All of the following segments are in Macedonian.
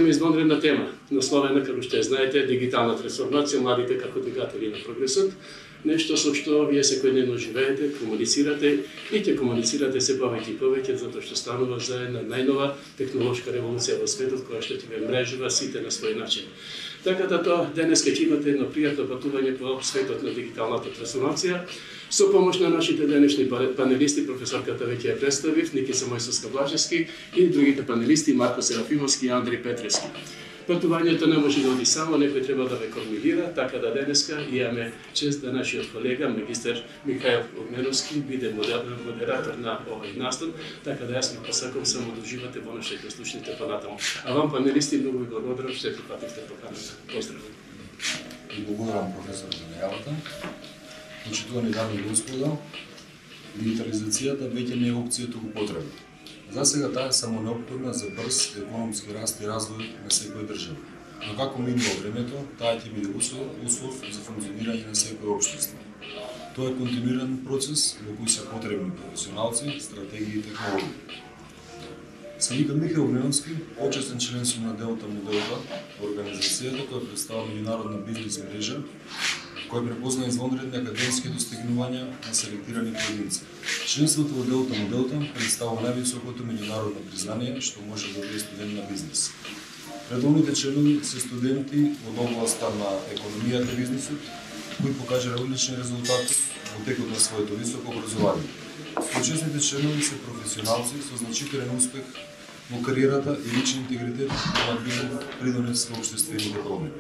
имаме извонредна тема, насловена, како што знаете, дигитална трансформација, младите како двигатели на прогресот, нешто со што вие секојдневно живеете, комуницирате и ќе комуницирате се повеќе и повеќе, затоа што станува за една најнова технолошка револуција во светот, која што ќе ве мрежува сите на свој начин. Така да тоа денес ќе имате едно пријатно патување по светот на дигиталната трансформација, со помош на нашите денешни панелисти, професорката веќе ја представив, Никица Мојсовска-Блажевски и другите панелисти Марко Серафимовски и Андри Петрески. Патувањето не може да оди само, некој треба да ве координира, така да денеска имаме чест да нашиот колега, магистер Михаил Огненовски, биде модератор на овој настан, така да јас ми посакам само да уживате во нашите слушните понатаму. А вам, панелисти, многу ви благодарам што прифативте поканата. Поздрав! И благодарам, професор, за најавата. Почитувани дами и господа, дигитализацијата веќе не е опција, туку потреба. За сега таа е само неопходна за брз економски раст и развој на секоја држава. Но како минува времето, таа ќе биде услов за функционирање на секој општество. Тоа е континуиран процес во кој се потребни професионалци, стратегии и технологии. Се викам Михаил Огненовски, почесен член сум на Делта Моделта, организацијата која представува меѓународна бизнес мрежа, кој препозна извонредни академски достигнувања на селектирани поединци. Членството во Делта Моделта представува највисокото меѓународно признание што може да биде студент на бизнес. Редовните членови се студенти од областа на економијата и бизнесот, кои покажале одлични резултати во текот на своето високо образование. Почесните членови се професионалци со значителен успех во кариерата и личен интегритет имаат виден придонес во општествените промени.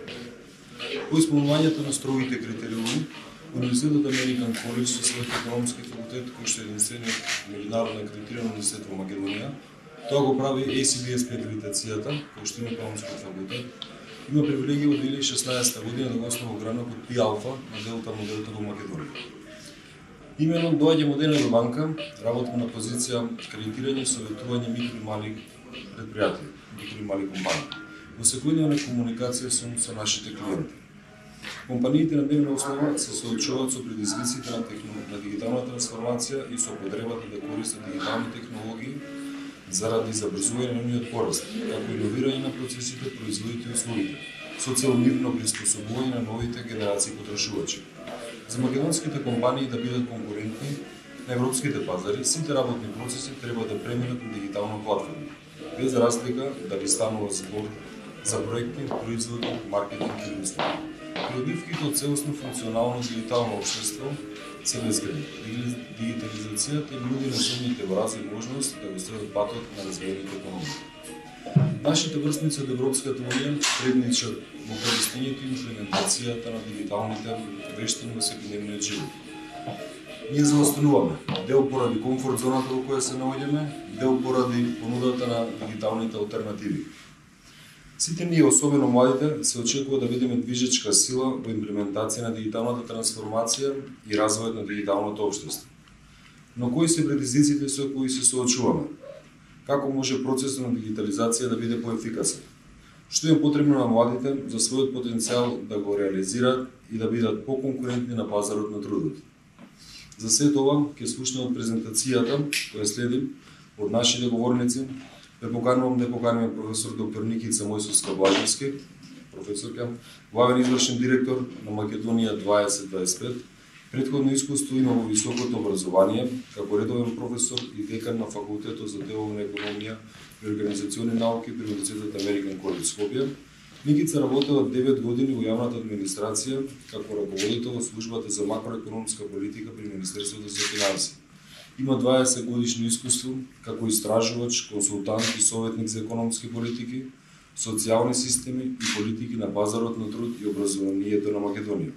По исполнувањето на строгите критериуми, Универзитетот Американ Коледж со својот економски факултет, кој што е единствениот меѓународно акредитиран универзитет во Македонија, тоа го прави ACBSP акредитацијата, кој што има економски факултет, има привилегија од 2016 година да го основа гранокот Пи Алфа на Делта Моделта во Македонија. Имено доаѓа модерна банка, работам на позиција кредитирање и советување микро и мали предпријатија, микро и мали компании. Во секојдневна комуникација со нашите клиенти. Компаниите на дневна основа се соочуваат со предизвиците на дигитална трансформација и со потребата да користат дигитални технологии заради забрзување на нивниот пораст, како иновирање на процесите, производите и услугите, со цел мирно приспособување на новите генерации потрошувачи. За македонските компании да бидат конкурентни на европските пазари, сите работни процеси треба да преминат на дигитална платформа, без разлика дали станува збор за проекти, производи, маркетинг или услуги. Придобивките од целосно функционално дигитално општество се безгранични. Дигитализацијата им нуди на сумните во развој можност да го следат патот на развиените економии. Нашите врсници од Европската унија предничат во користењето и имплементацијата на дигиталните вештини во секојдневниот живот. Ние заостануваме дел поради комфорт зоната во која се наоѓаме, дел поради понудата на дигиталните алтернативи. Сите ние, особено младите, се очекува да бидеме движечка сила во имплементација на дигиталната трансформација и развојот на дигиталното општество. Но кои се предизвиците со кои се соочуваме? Како може процесот на дигитализација да биде поефикасен? Што е потребно на младите за својот потенцијал да го реализираат и да бидат поконкурентни на пазарот на трудот? За сето ова ќе слушнеме од презентацијата која следи од нашите говорници. Ве поканувам да поканиме професор доктор Никица Мојсовска-Блажевски, професорка, главен извршен директор на Македонија 2025, претходно искуство има во високото образование, како редовен професор и декан на факултетот за деловна економија и организациони науки при Универзитетот Американ Коледж Скопје. Никица работела 9 години во јавната администрација како раководител во службата за макроекономска политика при Министерството за финансии. Има 20 годишно искуство како истражувач, консултант и советник за економски политики, социјални системи и политики на пазарот на труд и образованието на Македонија,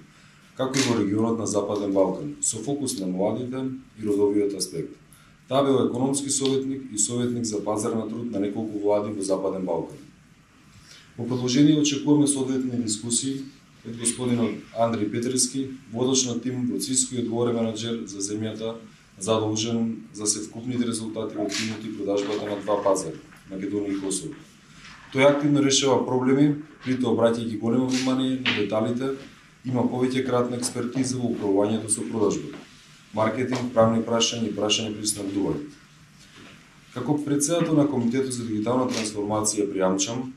како и во регионот на Западен Балкан, со фокус на младите и родовиот аспект. Таа бил економски советник и советник за пазар на труд на неколку влади во Западен Балкан. Во продолжение очекуваме соодветни дискусии од господинот Андри Петрески, водач на тим во Циско и одговорен менаџер за земјата, задолжен за севкупните резултати во тимот и продажбата на два пазари, Македонија и Косово. Тој активно решава проблеми, притоа обраќајќи големо внимание на деталите, има повеќе кратна експертиза во управувањето со продажбата, маркетинг, правни прашања и прашања при снабдување. Како председател на Комитетот за дигитална трансформација пријамчам,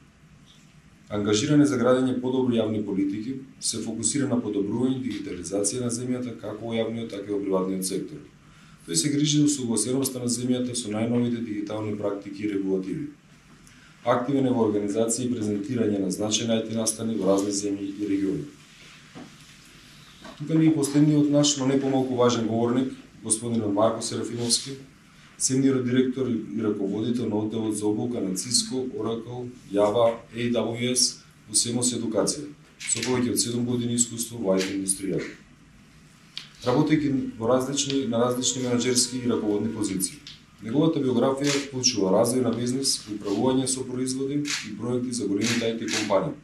Ангажиране за градење подобри јавни политики, се фокусира на подобрување дигитализација на земјата како во јавниот, така и во приватниот сектор. Тој се грижи за усогласеноста на земјата со најновите дигитални практики и регулативи. Активен е во организација и презентирање на значајни IT настани во разни земји и региони. Тука ни е последниот наш, но не помалку важен говорник, господинот Марко Серафимовски, сениор директор и раководител на одделот за обука на Cisco, Oracle, Java, AWS во Семос Едукација, со повеќе од 7 години искуство во IT индустријата. Работејќи на различни менаџерски и раководни позиции. Неговата биографија вклучува развој на бизнес, управување со производи и проекти за големите IT компании.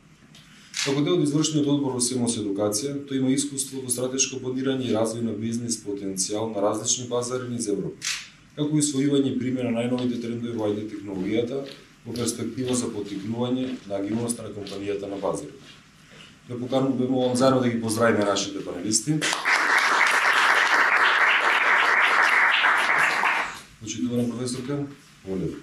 Како дел од извршниот одбор во Семос Едукација, тој има искуство во стратешко планирање и развој на бизнес потенцијал на различни пазари низ Европа, како и усвојување и примена на најновите трендови во IT технологијата во перспектива за поттикнување на агилноста на компанијата на пазарот. Ве молам заедно да ги поздравиме нашите панелисти. Почитувана професорка, молам.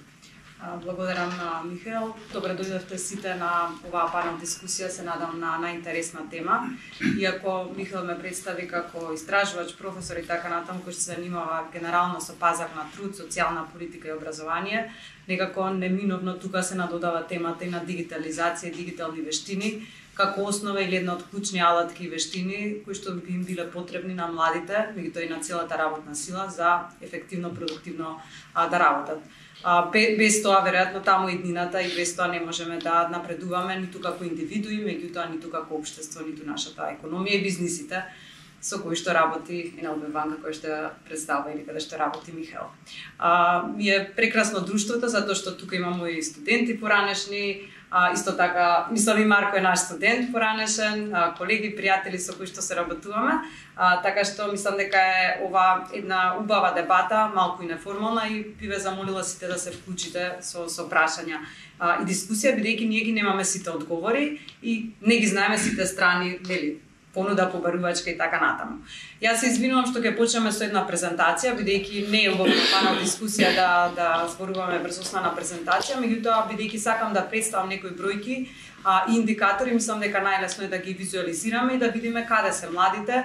Благодарам на Михаел. Добре дојдовте сите на оваа панел дискусија, се надам на најинтересна тема. Иако Михаел ме представи како истражувач, професор и така натаму, кој се занимава генерално со пазар на труд, социјална политика и образование, некако неминовно тука се надодава темата и на дигитализација и дигитални вештини, како основа или една од клучни алатки и вештини кои што би им биле потребни на младите, меѓутоа и на целата работна сила за ефективно, продуктивно да работат. Без тоа, веројатно, таму иднината и без тоа не можеме да напредуваме ниту како индивидуи, меѓутоа ниту како општество, ниту нашата економија и бизнисите со кои што работи НЛБ банка, кој што представува или каде што работи Михаел. Ми е прекрасно друштвото, затоа што тука имаме и студенти поранешни, исто така, мислам и Марко е наш студент поранешен, колеги, пријатели со кои што се работуваме, така што мислам дека е ова една убава дебата, малку и неформална, и би ве замолила сите да се вклучите со прашања и дискусија, бидејќи ние ги немаме сите одговори и не ги знаеме сите страни, нели, понуда побарувачка и така натаму. Јас се извинувам што ќе почнеме со една презентација, бидејќи не е убаво панел дискусија да зборуваме врз основна презентација, меѓутоа бидејќи сакам да представам некои бројки и индикатори, мислам дека најлесно е да ги визуализираме и да видиме каде се младите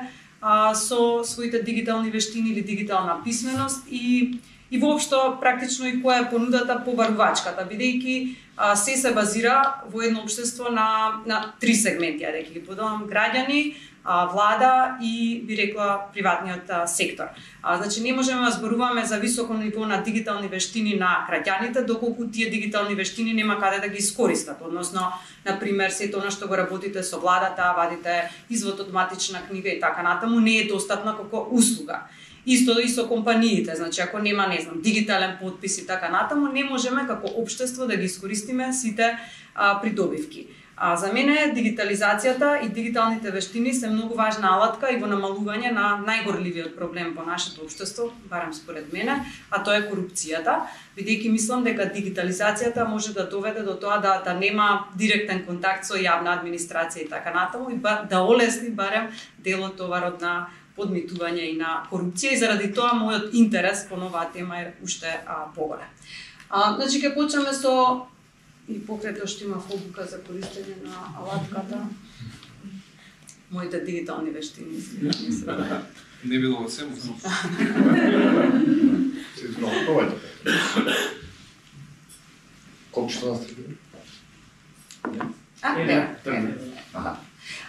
со своите дигитални вештини или дигитална писменост и воопшто практично и која е понудата побарувачката, бидејќи се базира во едно општество на три сегменти, да ги поделам: граѓани, влада и би рекла приватниот сектор. Значи не можеме да зборуваме за високо ниво на дигитални вештини на граѓаните доколку тие дигитални вештини нема каде да ги искористат, односно на пример сето она што го работите со владата, вадите извод од матична книга и така натаму не е достапно како услуга. Исто и со компаниите, значи ако нема, не знам, дигитален подпис и така натаму, не можеме како општество да ги искористиме сите придобивки. За мене дигитализацијата и дигиталните вештини се многу важна алатка и во намалување на најгорливиот проблем во нашето општество, барем според мене, а тоа е корупцијата, бидејќи мислам дека дигитализацијата може да доведе до тоа да нема директен контакт со јавна администрација и така натаму и да олесни барем делот товарот на подмитување и на корупција, и заради тоа мојот интерес по оваа тема е уште поголем. Значи ќе почнеме со и покрај тоа што има обука за користење на алатката. Моите дигитални вештини не било во Семос. Се изпробувајте. Колку што настапи?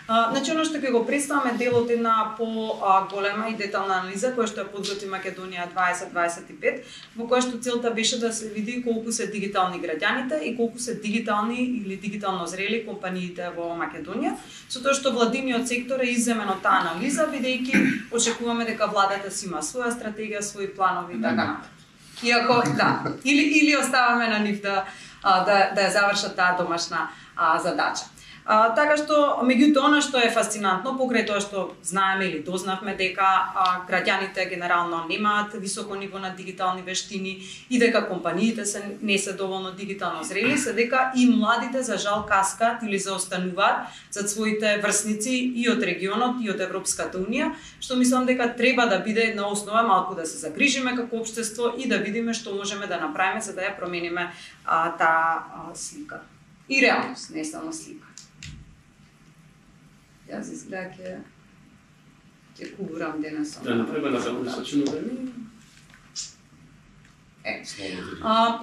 Значи, оно што ќе го представаме дел од една по-голема и детална анализа, која што ја подготви Македонија 2025, во која што целта беше да се види колку се дигитални граѓаните и колку се дигитални или дигитално зрели компаниите во Македонија, со тоа што владиниот сектор е изземен од таа анализа, бидејќи очекуваме дека владата си има своја стратегија, своји планови и така натаму. Иако, да, или оставаме на нив да ја завршат таа домашна задача. Така што, меѓутоа, она што е фасцинантно, покрај тоа што знаеме или дознавме дека граѓаните генерално немаат високо ниво на дигитални вештини и дека компаниите не се доволно дигитално зрели, се дека и младите за жал каскаат или заостануваат зад своите врсници и од регионот и од Европската унија, што мислам дека треба да биде една основа малку да се загрижиме како општество и да видиме што можеме да направиме за да ја промениме таа слика. И реалност, не само слика. Јас изгледа ќе кубурам денес. Да направиме на завршечено време.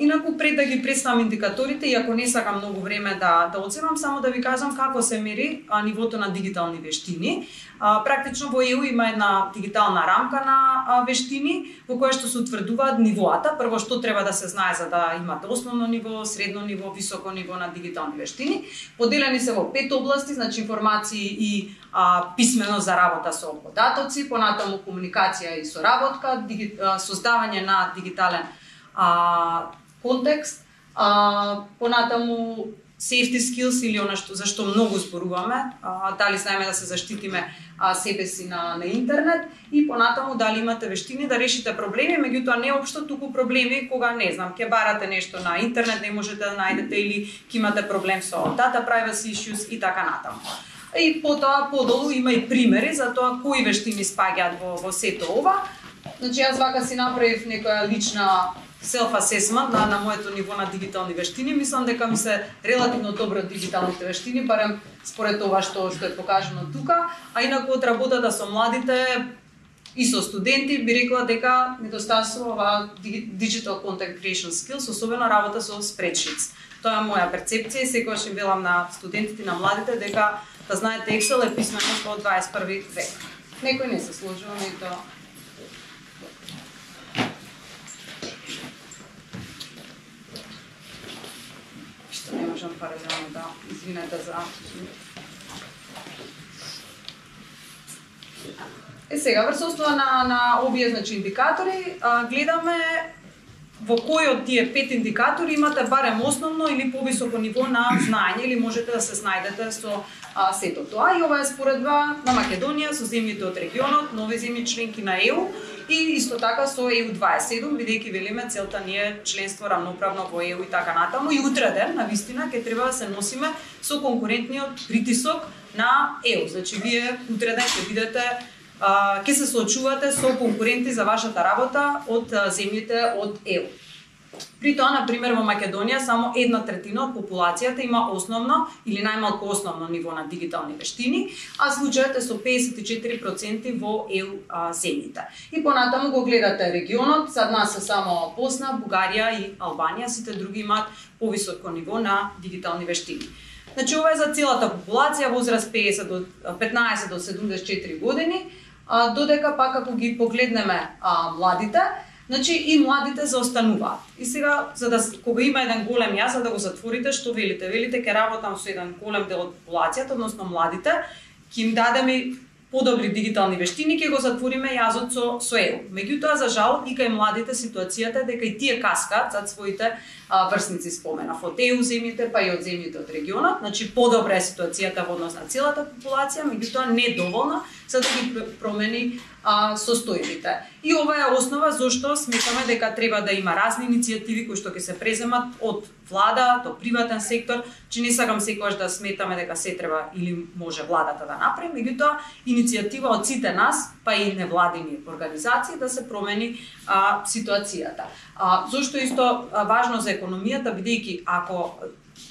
Инаку пред да ги представам индикаторите, иако не сакам многу време да оценам, само да ви кажам како се мери нивото на дигитални вештини. Практично во ЕУ има една дигитална рамка на вештини во која што се утврдуваат нивоата. Прво што треба да се знае за да имате основно ниво, средно ниво, високо ниво на дигитални вештини. Поделени се во 5 области, значи информации и писменост за работа со податоци, понатаму комуникација и соработка, создавање на дигитален контекст, понатаму safety skills или она што зашто многу зборуваме, дали знаеме да се заштитиме себе си на интернет и понатаму дали имате вештини да решите проблеми, меѓутоа не општо туку проблеми кога не знам, ќе барате нешто на интернет, не можете да најдете или ќе имате проблем со data privacy issues и така натаму. И потоа подолу има и примери за тоа кои вештини спаѓаат во сето ова. Значи јас вака си направив некоја лична self-assessment на моето ниво на дигитални вештини. Мислам дека ми се релативно добро дигиталните вештини, барем според тоа што е покажано тука. А инаку од работата со младите и со студенти би рекла дека недостасува digital content creation skills, особено работа со спредшитс. Тоа е моја перцепција и секогаш им велам на студентите и на младите дека да знаете Excel е писменост во 21 век. Некој не се сложува, и тоа не можам паралелно да извинете за... Сега, врз основа на овие индикатори, гледаме во кој од тие 5 индикатори имате барем основно или повисоко ниво на знаење или можете да се снајдете со сето тоа. И ова е споредба на Македонија со земјите од регионот, нови земји членки на ЕУ и исто така со ЕУ 27, бидејќи велиме целта ни е членство рамноправно во ЕУ и така натаму. И утре ден, навистина, ќе треба да се носиме со конкурентниот притисок на ЕУ. Значи, вие утре ден ќе видите ќе се соочувате со конкуренти за вашата работа од земјите од ЕУ. При тоа, например, во Македонија само 1/3 од популацијата има основно или најмалку основно ниво на дигитални вештини, а случајот е со 54% во ЕУ земјите. И понатаму го гледате регионот, сад нас се само Босна, Бугарија и Албанија, сите други имаат повисоко ниво на дигитални вештини. Значи, ова е за целата популација, возраст 15 до 74 години, додека пак ако ги погледнеме младите, значи и младите заостануваат. И сега, кога има еден голем јаз, за да го затворите, што велите? Велите, ќе работам со еден голем дел од популацијата, односно младите, ќе им дадеме подобри дигитални вештини, ќе го затвориме јазот со ЕУ. Меѓутоа, за жал, и кај младите ситуацијата дека и тие каскаат зад своите врсници, споменав, од ЕУ земјите, па и од земјите од регионот. Значи, подобра е ситуацијата во однос на целата популација, меѓутоа не доволна за да ги промени состојбите. И ова е основа зашто сметаме дека треба да има разни иницијативи кои што ќе се преземат од влада до приватен сектор, че не сакам секогаш да сметаме дека се треба или може владата да направи, меѓутоа иницијатива од сите нас, па и невладини организации да се промени ситуацијата. Зошто исто важно за економијата, бидејќи ако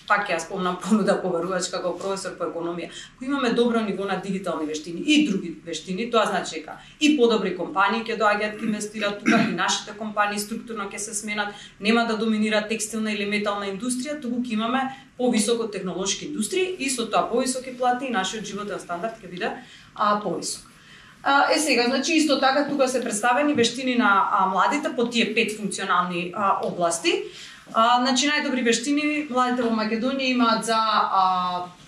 пак ја спомнам понуда поверувачка како професор по економија, ако имаме добро ниво на дигитални вештини и други вештини, тоа значи дека и подобри компании ќе доаѓаат ќе инвестираат тука, и нашите компании структурно ќе се сменат, нема да доминира текстилна или метална индустрија, туку ќе имаме повисоко технолошки индустрии и со тоа повисоки плати и нашиот животен стандард ќе биде повисок. Сега, значи исто така тука се представени вештини на младите по тие 5 функционални области. Значи најдобри вештини младите во Македонија имаат за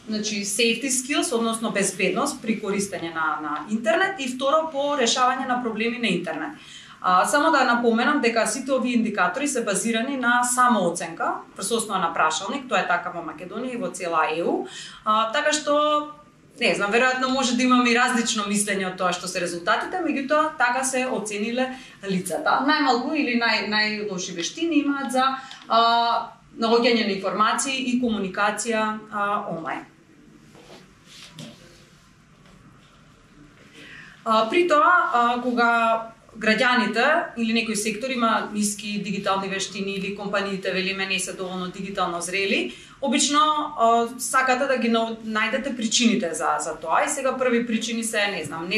значи safety skills, односно безбедност при користење на интернет и второ по решавање на проблеми на интернет. Само да напоменам дека сите овие индикатори се базирани на самооценка врз основа на прашалник, тоа е така во Македонија и во цела ЕУ, така што не знам, веројатно може да имаме и различно мислење од тоа што се резултатите, меѓутоа така се оцениле лицата. Најмалку или најлоши вештини имаат за наоѓање на информации и комуникација онлайн. При тоа, кога граѓаните или некој сектор има ниски дигитални вештини или компаниите велиме не се доволно дигитално зрели, обично сакате да ги најдете причините за тоа. И сега први причини се, не знам,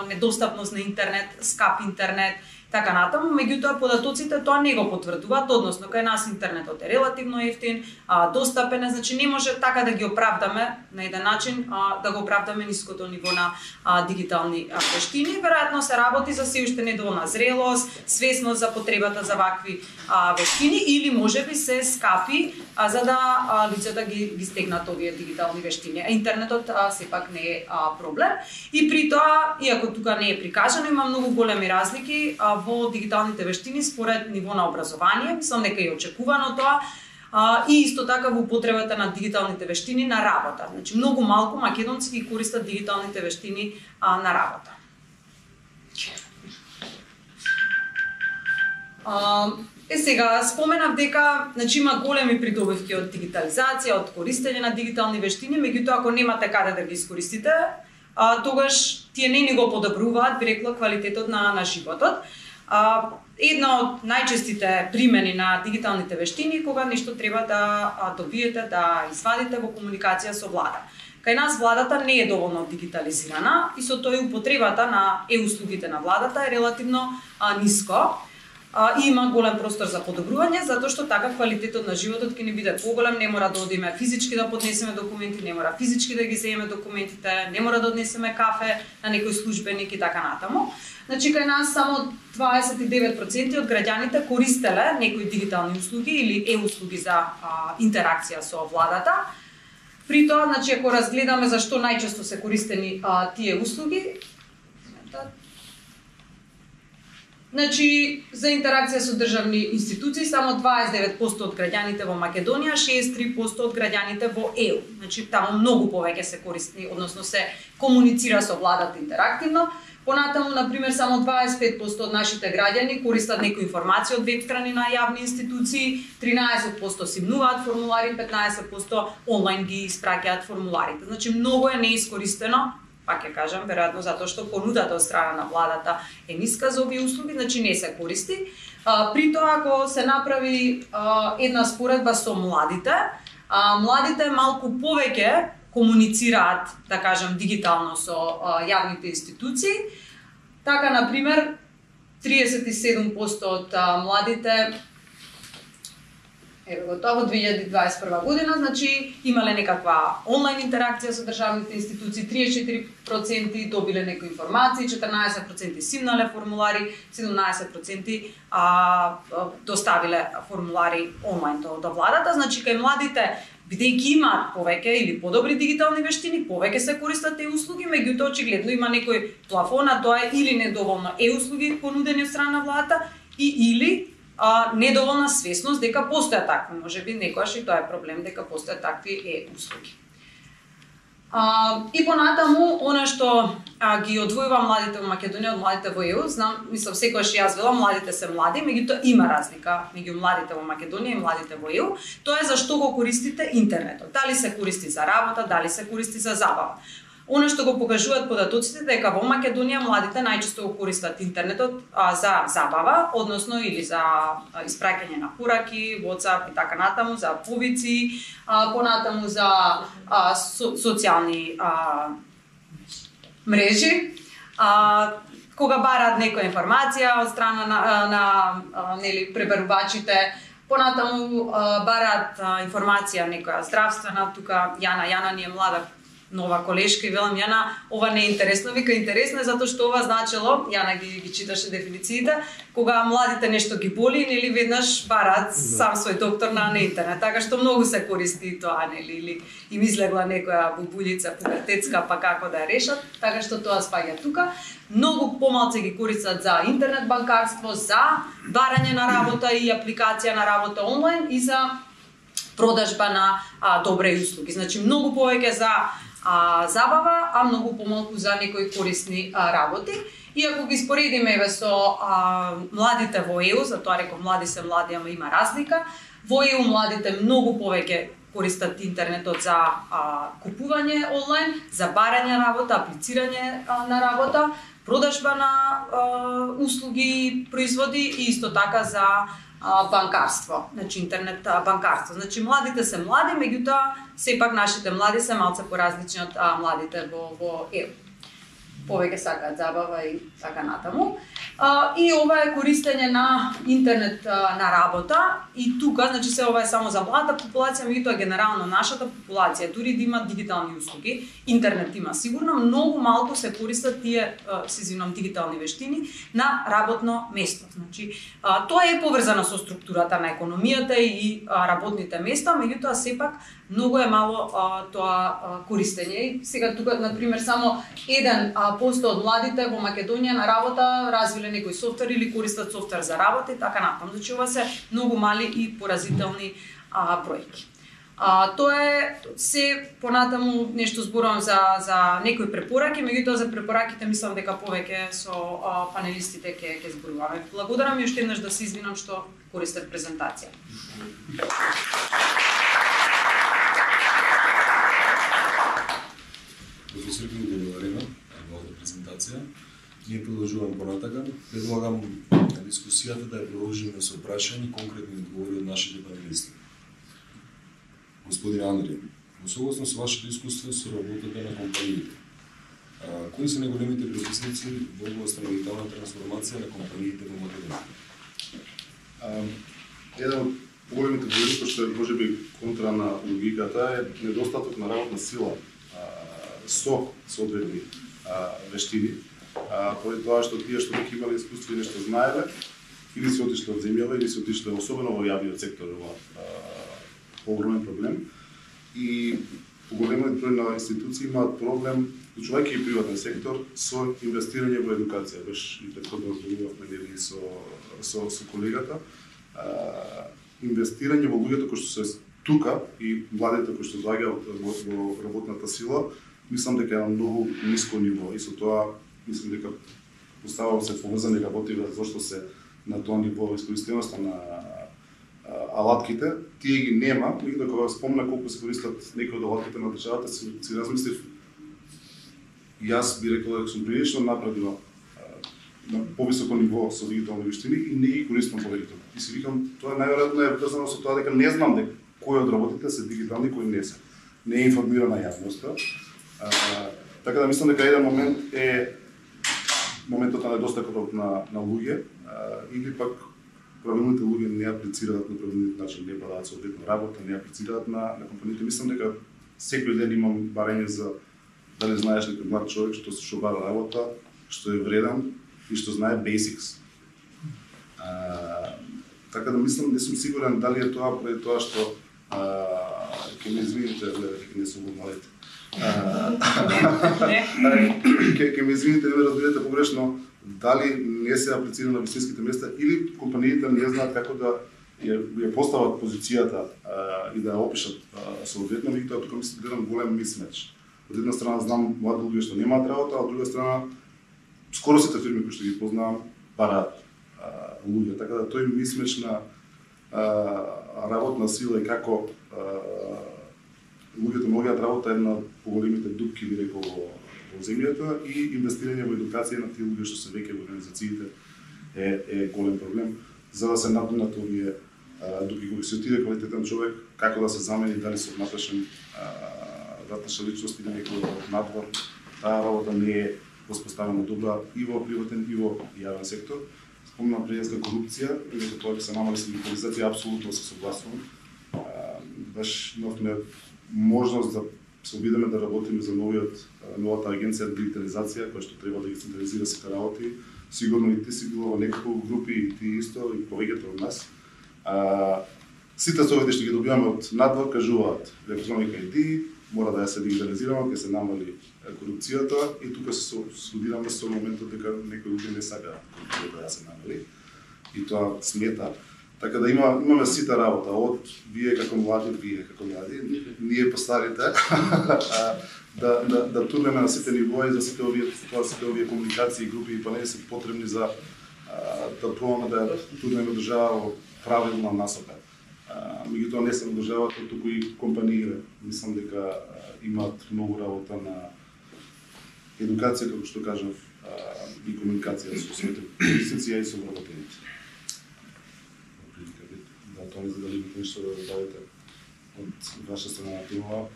недостапност на интернет, скап интернет, така натаму, меѓутоа податоците тоа не го потврдуваат, односно кај нас интернетот е релативно ефтин, достапен, значи не може така да ги оправдаме на еден начин, да го оправдаме ниското ниво на дигитални вештини. Веројатно се работи за се уште недоволна зрелост, свесност за потребата за вакви вештини или можеби се скапи за да лицата ги стегнат овие дигитални вештини. Интернетот сепак не е проблем. И при тоа, иако тука не е прикажано, има многу големи разлики во дигиталните вештини според ниво на образование, мислам дека е очекувано тоа, и исто така во употребата на дигиталните вештини на работа. Значи многу малку македонци ги користат дигиталните вештини на работа. Сега споменав дека значи има големи придобивки од дигитализација, од користење на дигитални вештини, меѓутоа ако немате каде да ги искористите, тогаш тие не ни го подобруваат, би рекла, квалитетот на животот. Една од најчестите примени на дигиталните вештини кога нешто треба да добиете, да извадите во комуникација со влада. Кај нас владата не е доволно дигитализирана и со тоа и употребата на услугите на владата е релативно ниско. И има голем простор за подобрување, затоа што така квалитетот на животот ќе ни биде поголем, не мора да одиме физички да поднесеме документи, не мора физички да ги земеме документите, не мора да однесеме кафе на некој службеник и така натаму. Значи кај нас само 29% од граѓаните користеле некои дигитални услуги или услуги за интеракција со владата. При тоа, значи ако разгледаме зашто најчесто се користени тие услуги, значи, за интеракција со државни институции, само 29% од граѓаните во Македонија, 63% од граѓаните во ЕУ. Значи, таму многу повеќе се користи, односно се комуницира со владата интерактивно. Понатаму, например, само 25% од нашите граѓани користат некои информации од веб страни на јавни институции, 13% симнуваат формулари, 15% онлайн ги испраќаат формуларите. Значи, многу е неискористено. Пак ќе кажам, веројатно затоа што понудата од страна на владата е ниска за овие услуги, значи не се користи. При тоа, ако се направи една споредба со младите, младите малку повеќе комуницираат, да кажам, дигитално со јавните институции. Така, например, 37% од младите Ево тоа во 2021 година, значи имале некаква онлайн интеракција со државните институции, 34% добиле некои информации, 14% симнале формулари, 17% доставиле формулари онлайн до владата. Значи кај младите, бидејќи имаат повеќе или подобри дигитални вештини, повеќе се користат услуги, меѓутоа очигледно има некој плафон, а тоа е или недоволно услуги понудени од страна на владата или недоволна свесност дека постојат такви, можеби некојаш и тоа е проблем дека постојат такви услуги. И понатаму, она што ги одвојува младите во Македонија од младите во ЕУ, знам, мислам секогаш јас велам, младите се млади, меѓутоа има разлика меѓу младите во Македонија и младите во ЕУ, тоа е зашто го користите интернетот. Дали се користи за работа, дали се користи за забава. Оно што го покажуваат податоците дека во Македонија младите најчесто го користат интернетот за забава, односно или за испраќање на пораки, WhatsApp и така натаму, за повици, понатаму за социјални мрежи, кога бараат некоја информација од страна на нели пребарувачите, понатаму бараат информација некоја здравствена, тука Јана ни е млада нова колешка и велам Јана, ова не е интересно, вика интересно е затоа што ова значело, Јана ги читаше дефинициите, кога младите нешто ги боли, нели веднаш бараат сам свој доктор на интернет, така што многу се користи тоа, нели, или им излегла некоја бубулица пубертетска, па како да ја решат, така што тоа спаѓа тука. Многу помалку ги користат за интернет банкарство, за барање на работа и апликација на работа онлайн и за продажба на добри услуги. Значи многу повеќе за забава, а многу помалку за некои корисни работи. И ако ги споредиме со младите во ЕУ, затоа реков млади се млади, ама има разлика, во ЕУ младите многу повеќе користат интернетот за купување онлайн, за барање работа, аплицирање на работа, продажба на услуги, производи и исто така за банкарство, значи интернет банкарство. Значи младите се млади, меѓутоа сепак нашите млади се малце поразлични од младите во ЕУ. Повеќе сакаат забава и така натаму. И ова е користење на интернет на работа и тука, значи се ова е само за младата популација, меѓутоа генерално нашата популација дури да има дигитални услуги, интернет има сигурно, многу малку се користат тие дигитални вештини на работно место. Значи тоа е поврзано со структурата на економијата и работните места, меѓутоа сепак многу е мало тоа користење. И сега тука на пример само 1% од младите во Македонија на работа развиле некој софтвер или користат софтвер за работа и така натаму. Значи ова се многу мали и поразителни бројки. Тоа е се понатаму нешто зборувам за некои препораки, меѓутоа за препораките мислам дека повеќе со панелистите ќе зборуваме. Благодарам и уште еднаш да се извинам што користев презентација. Професор Ким, благодариме за оваа презентација. Ние продолжуваме понатака. Предлагам дискусијата да ја продолжиме со прашања и конкретни одговори од нашите панелисти. Господин Андри, во согласност со вашето искуство со работата на компаниите, кои се најголемите предизвици во областа на дигитална трансформација на компаниите во Македонија? Еден од поголемите предизвици, што е можеби контра на логиката, е недостаток на работна сила со соодветни вештини, поради тоа што тие што веќе имале искуство и нешто знаеле, или се отишле од земјава, или се отишле особено во јавниот сектор, ова огромен проблем. И поголемиот број на институции имаат проблем, вклучувајќи и приватен сектор, со инвестирање во едукација. Беше и претходно зборувавме со колегата. Инвестирање во луѓето кои што се тука и младите кои што доаѓаат во работната сила, мислам дека е на многу ниско ниво и со тоа мислам дека оставало се поврзани работи зашто се на тоа ниво искористеноста на алатките, тие ги нема, меѓутоа кога спомна колку се користат некои од алатките на државата, си размислив, јас би рекол дека сум прилично напредувал на повисоко ниво со дигитални вештини и не ги користам повеќе. И си викам, тоа најверојатно е врзано со тоа дека не знам дека кои од работите се дигитални, кои не се. Не е информирана јавноста. Така да мислам дека еден момент е моментот на недостатокот на луѓе или пак правилните луѓе не аплицираат на правилниот начин, не бадаат соодветно работа, не аплицираат на компаниите. Мислам дека секој ден имам барање за дали знаеш некој млад човек што бара работа, што е вреден и што знае basics. Така да мислам, не сум сигурен дали е тоа поради тоа што ќе ме извините, дека не сум малете. Ќе ме извините, не ме разберете погрешно, дали не се аплицира на вистинските места или компаниите не знаат како да ја постават позицијата и да ја опишат соодветно, меѓутоа тука мислам гледам голем мисмеч. Од една страна знам млади луѓе што немаат работа, а од друга страна скоро сите фирми кои што ги познавам бараат луѓе, така да тој мисмеч на работна сила и како луѓето могат работа е една од поголемите дупки, би рекол, во земјата и инвестирање во едукација на тие луѓе што се веќе во организациите е голем проблем за да се надминат овие дупки кога се отиде квалитетен човек, како да се замени, дали се внатрешен личност или некој надвор. Таа работа не е воспоставена добра и во приватен и во јавен сектор. Спомнам предиска корупција, и дека тоа ќе се намали со дигитализација, апсолутно се согласувам. Баш имавме можност да се обидеме да работиме за новата агенција за дигитализација, која што треба да ги централизира сите работи. Сигурно и ти си било во неколку групи, и ти исто, и повеќето од нас. Сите совети што ги добиваме од надвор кажуваат електроника ID, мора да ја се дигитализираме, ќе се намали корупцијата и тука се судираме со моментот дека некои луѓе не сакаат корупцијата да се намали. И тоа смета. Така да имаме сите работа, од вие како млади, ние постарите, да турнеме на сите нивои за сите овие комуникации, групи и панели се потребни за да пробаме да турнеме држава во правилна насока. Меѓутоа не само државата, туку и компаниите. Мислам дека имаат многу работа на едукација, како што кажав, и комуникација со своите користници и со вработените. Да, тоа не за дали имате нешто да добавите од ваша страна на тема.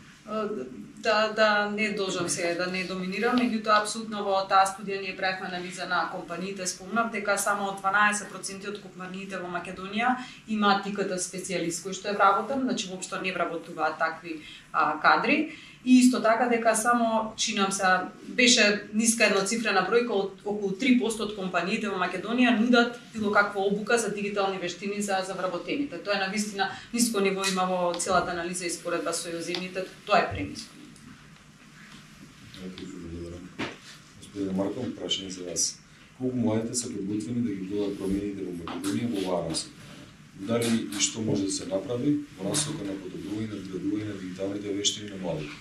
Да не должам сега да не доминирам, меѓутоа апсолутно во таа студија ние правевме анализа на компаниите, спомнав дека само 12% од компаниите во Македонија имаат ИКТ специјалист кој што е вработен, значи воопшто не вработуваат такви кадри. И исто така дека само, чинам се, беше ниска едноцифрена бројка од околу 3% од компаниите во Македонија нудат било каква обука за дигитални вештини за вработените. Тоа е навистина ниско ниво има во целата анализа и споредба со јоземните, тоа е премиско. Господин Марков, прашање за вас. Колку младите се подготвени да ги гледат промените во Македонија во оваа насока? Дали и што може да се направи во насока на подобрување на надградување на дигиталните вештини на младите?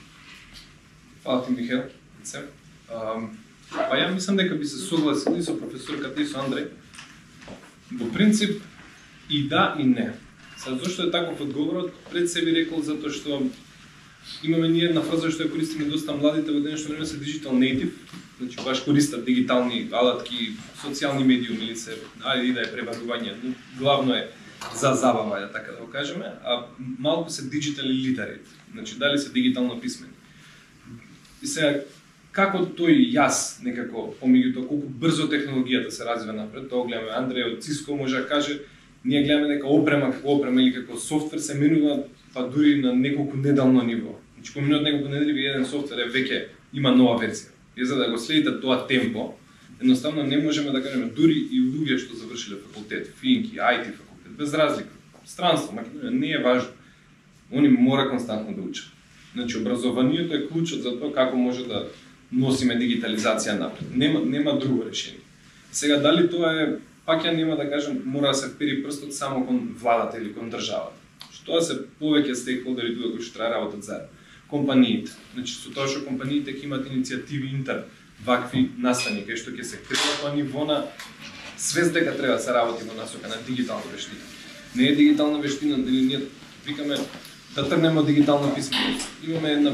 Фала ти, Михел. Па ја мислам дека би се согласил и со професорката и со Андреј. Во принцип и да и не. Сега зошто е таков одговорот? Пред се би рекол затоа што имаме ние една фраза што ја користиме доста младите во денешно време се digital native, значи баш користат дигитални алатки, социјални медиуми или се ајде да е пребарување, но главно е за забава, така да го кажеме, а малку се digital literate, значи дали се дигитално писмени. И сега, како тој јас некако, помеѓу тоа колку брзо технологијата се развива напред, тоа гледаме Андреј од Cisco може да каже, ние гледаме дека опрема или како софтвер се менува па дури на неколку неделно ниво. Значи по минут неколку недели еден софтвер е веќе има нова верзија. И за да го следите тоа темпо, едноставно не можеме да кажеме дури и луѓе што завршиле факултет, финки, IT факултет, без разлика. Странство, Македонија не е важно. Они мора константно да учат. Значи образованието е клучот за тоа како може да носиме дигитализација напред. Нема друго решение. Сега дали тоа е, пак ја нема да кажем, мора да се впери прстот само кон владата или кон државата. Што се повеќе стейкхолдери тука кои што треба работат заедно. Компаниите. Значи со тоа што компаниите ќе имаат иницијативи интерн вакви настани кај што ќе се креира тоа ниво на свест дека треба да се работи во насока на дигитална вештина. Не е дигитална вештина, или ние викаме да тргнеме од дигитална писменост. Имаме една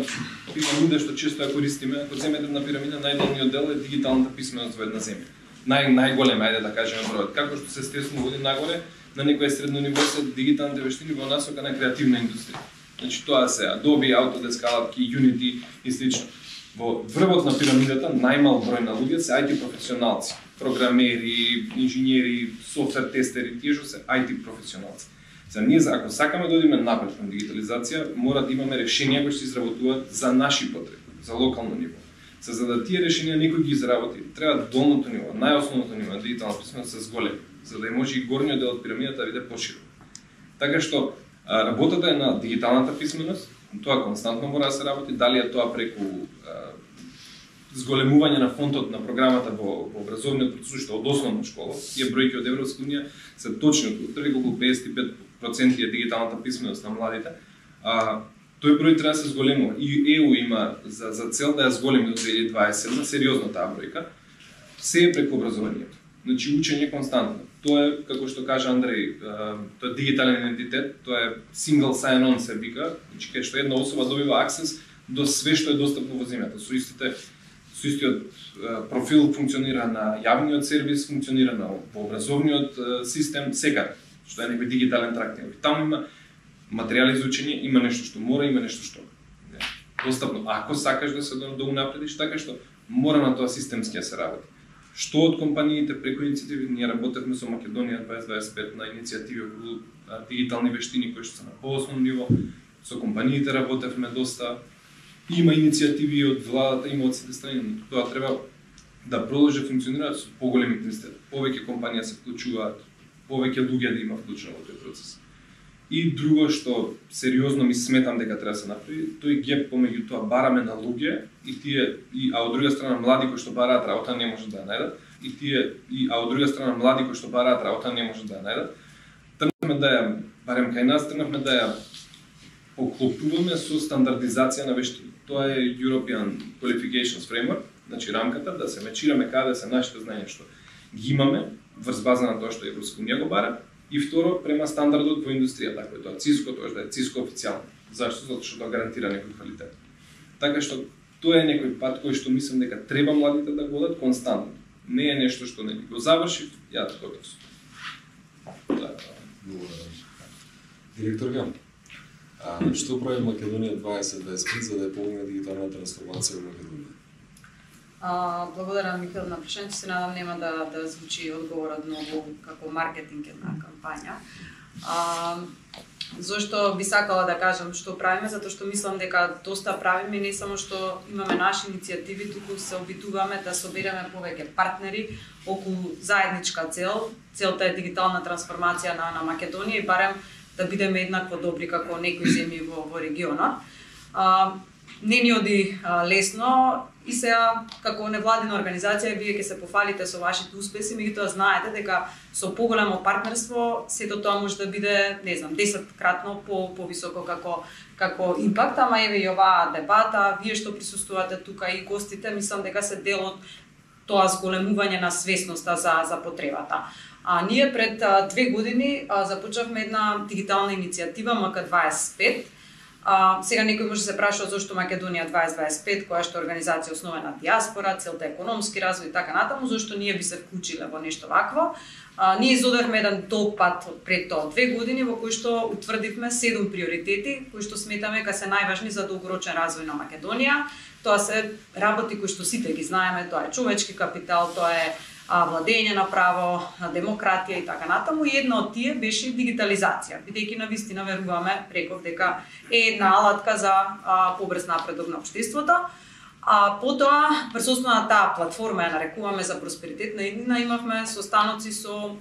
пирамида што често ја користиме, ако земете на пирамида, најдолниот дел е дигиталната писменост во една земја. Најголем, ајде да кажеме бројот. Како што се стесно води нагоре, на некое средно ниво се дигиталните вештини во насока на креативна индустрија. Значи тоа се Adobe, Autodesk, алатки, Unity и слично. Во врвот на пирамидата најмал број на луѓе се IT професионалци, програмери, инженери, софтвер тестери, тие што се IT професионалци. За ние, ако сакаме да одиме напред кон дигитализација, мора да имаме решенија кои се изработуваат за наши потреби, за локално ниво. За да тие решенија некој ги изработи, треба долното ниво, најосновното ниво на дигитална писменост се зголеми, за да може и горниот дел од пирамидата да биде поширок. Така што работата е на дигиталната писменост, тоа константно мора да се работи, дали е тоа преку зголемување на фонтот на програмата во образовниот процес од основна школа. Тие бројки од Европска унија се точни, околу 55% е дигиталната писменост на младите. Тој број треба да се зголемува. И ЕУ има за цел да ја зголеми до 2027, сериозно таа бројка. Се е преку образованието. Значи учење константно. Тоа е, како што кажа Андреј, тоа е дигитален идентитет, тоа е single sign-on се вика, значи кај што една особа добива аксес до све што е достапно во земјата. Со истиот профил функционира на јавниот сервис, функционира во образовниот систем секаде, што е некој дигитален трактир. Таму има материјали за учење, има нешто што мора, има нешто што достапно. Ако сакаш да се унапредиш, така што мора на тоа системски да се работи. Што од компаниите преку иницијативи, ние работевме со Македонија 2025 на иницијативи околу дигитални вештини кои што се на поосновно ниво, со компаниите работевме доста. Има иницијативи од владата, има од сите страни, но тоа треба да продолжи да функционира со поголем интензитет. Повеќе компанија се вклучуваат, повеќе луѓе да има вклучено во тој процес. И друго што сериозно ми сметам дека треба да се направи, тој геп помеѓу тоа бараме на луѓе а од друга страна млади кои што бараат работа не можат да ја најдат, а од друга страна млади кои што бараат работа не можат да ја најдат. Тргнавме да ја, барем кај нас, тргнавме да ја поклопуваме со стандардизација на вештини. Тоа е European Qualifications Framework, значи рамката да се мечираме каде се нашите знаења што ги имаме врз база на тоа што Европска унија го бара. И второ, према стандардот во индустријата, кој тоа Cisco, тоа да е Cisco официјално. Зашто? Затоа што тоа гарантира некој квалитет. Така што тоа е некој пат кој што мислам дека треба младите да го одат константно. не е нешто што нели го завршив, ја готов сум. Директор Гам, што прави Македонија 2025 за да ја помогне дигитална трансформација во Македонија? Благодарам, Михаил, на прашањето. Се надам нема да звучи одговорот многу како маркетингна кампања. Зошто би сакала да кажам што правиме, затоа што мислам дека доста правиме, не само што имаме наши иницијативи, туку се обидуваме да собереме повеќе партнери околу заедничка цел. Целта е дигитална трансформација на Македонија и барем да бидеме еднакво добри како некои земји во регионот. Не ни оди лесно и сега како невладина организација вие ќе се пофалите со вашите успеси, меѓутоа знаете дека со поголемо партнерство сето тоа може да биде, не знам, 10-кратно повисоко како импакт, ама еве и оваа дебата, вие што присуствувате тука и гостите, мислам дека се дел од тоа зголемување на свесноста за потребата. Ние пред 2 години започнавме една дигитална иницијатива МК25. Сега некој може да се прашува зошто Македонија 2025, која што е организација основена на диаспора, целта е економски развој и така натаму, зошто ние би се вклучиле во нешто вакво. Ние изодевме еден долг пат пред тоа 2 години во кој што утврдивме 7 приоритети кои што сметаме дека се најважни за долгорочен развој на Македонија. Тоа се работи кои што сите ги знаеме, тоа е човечки капитал, тоа е владење на право, демократија и така натаму. И една од тие беше дигитализација, бидејќи навистина веруваме реков дека е една алатка за побрз напредок на општеството. Потоа, врз основа на таа платформа ја нарекуваме за просперитетна иднина, имавме состаноци со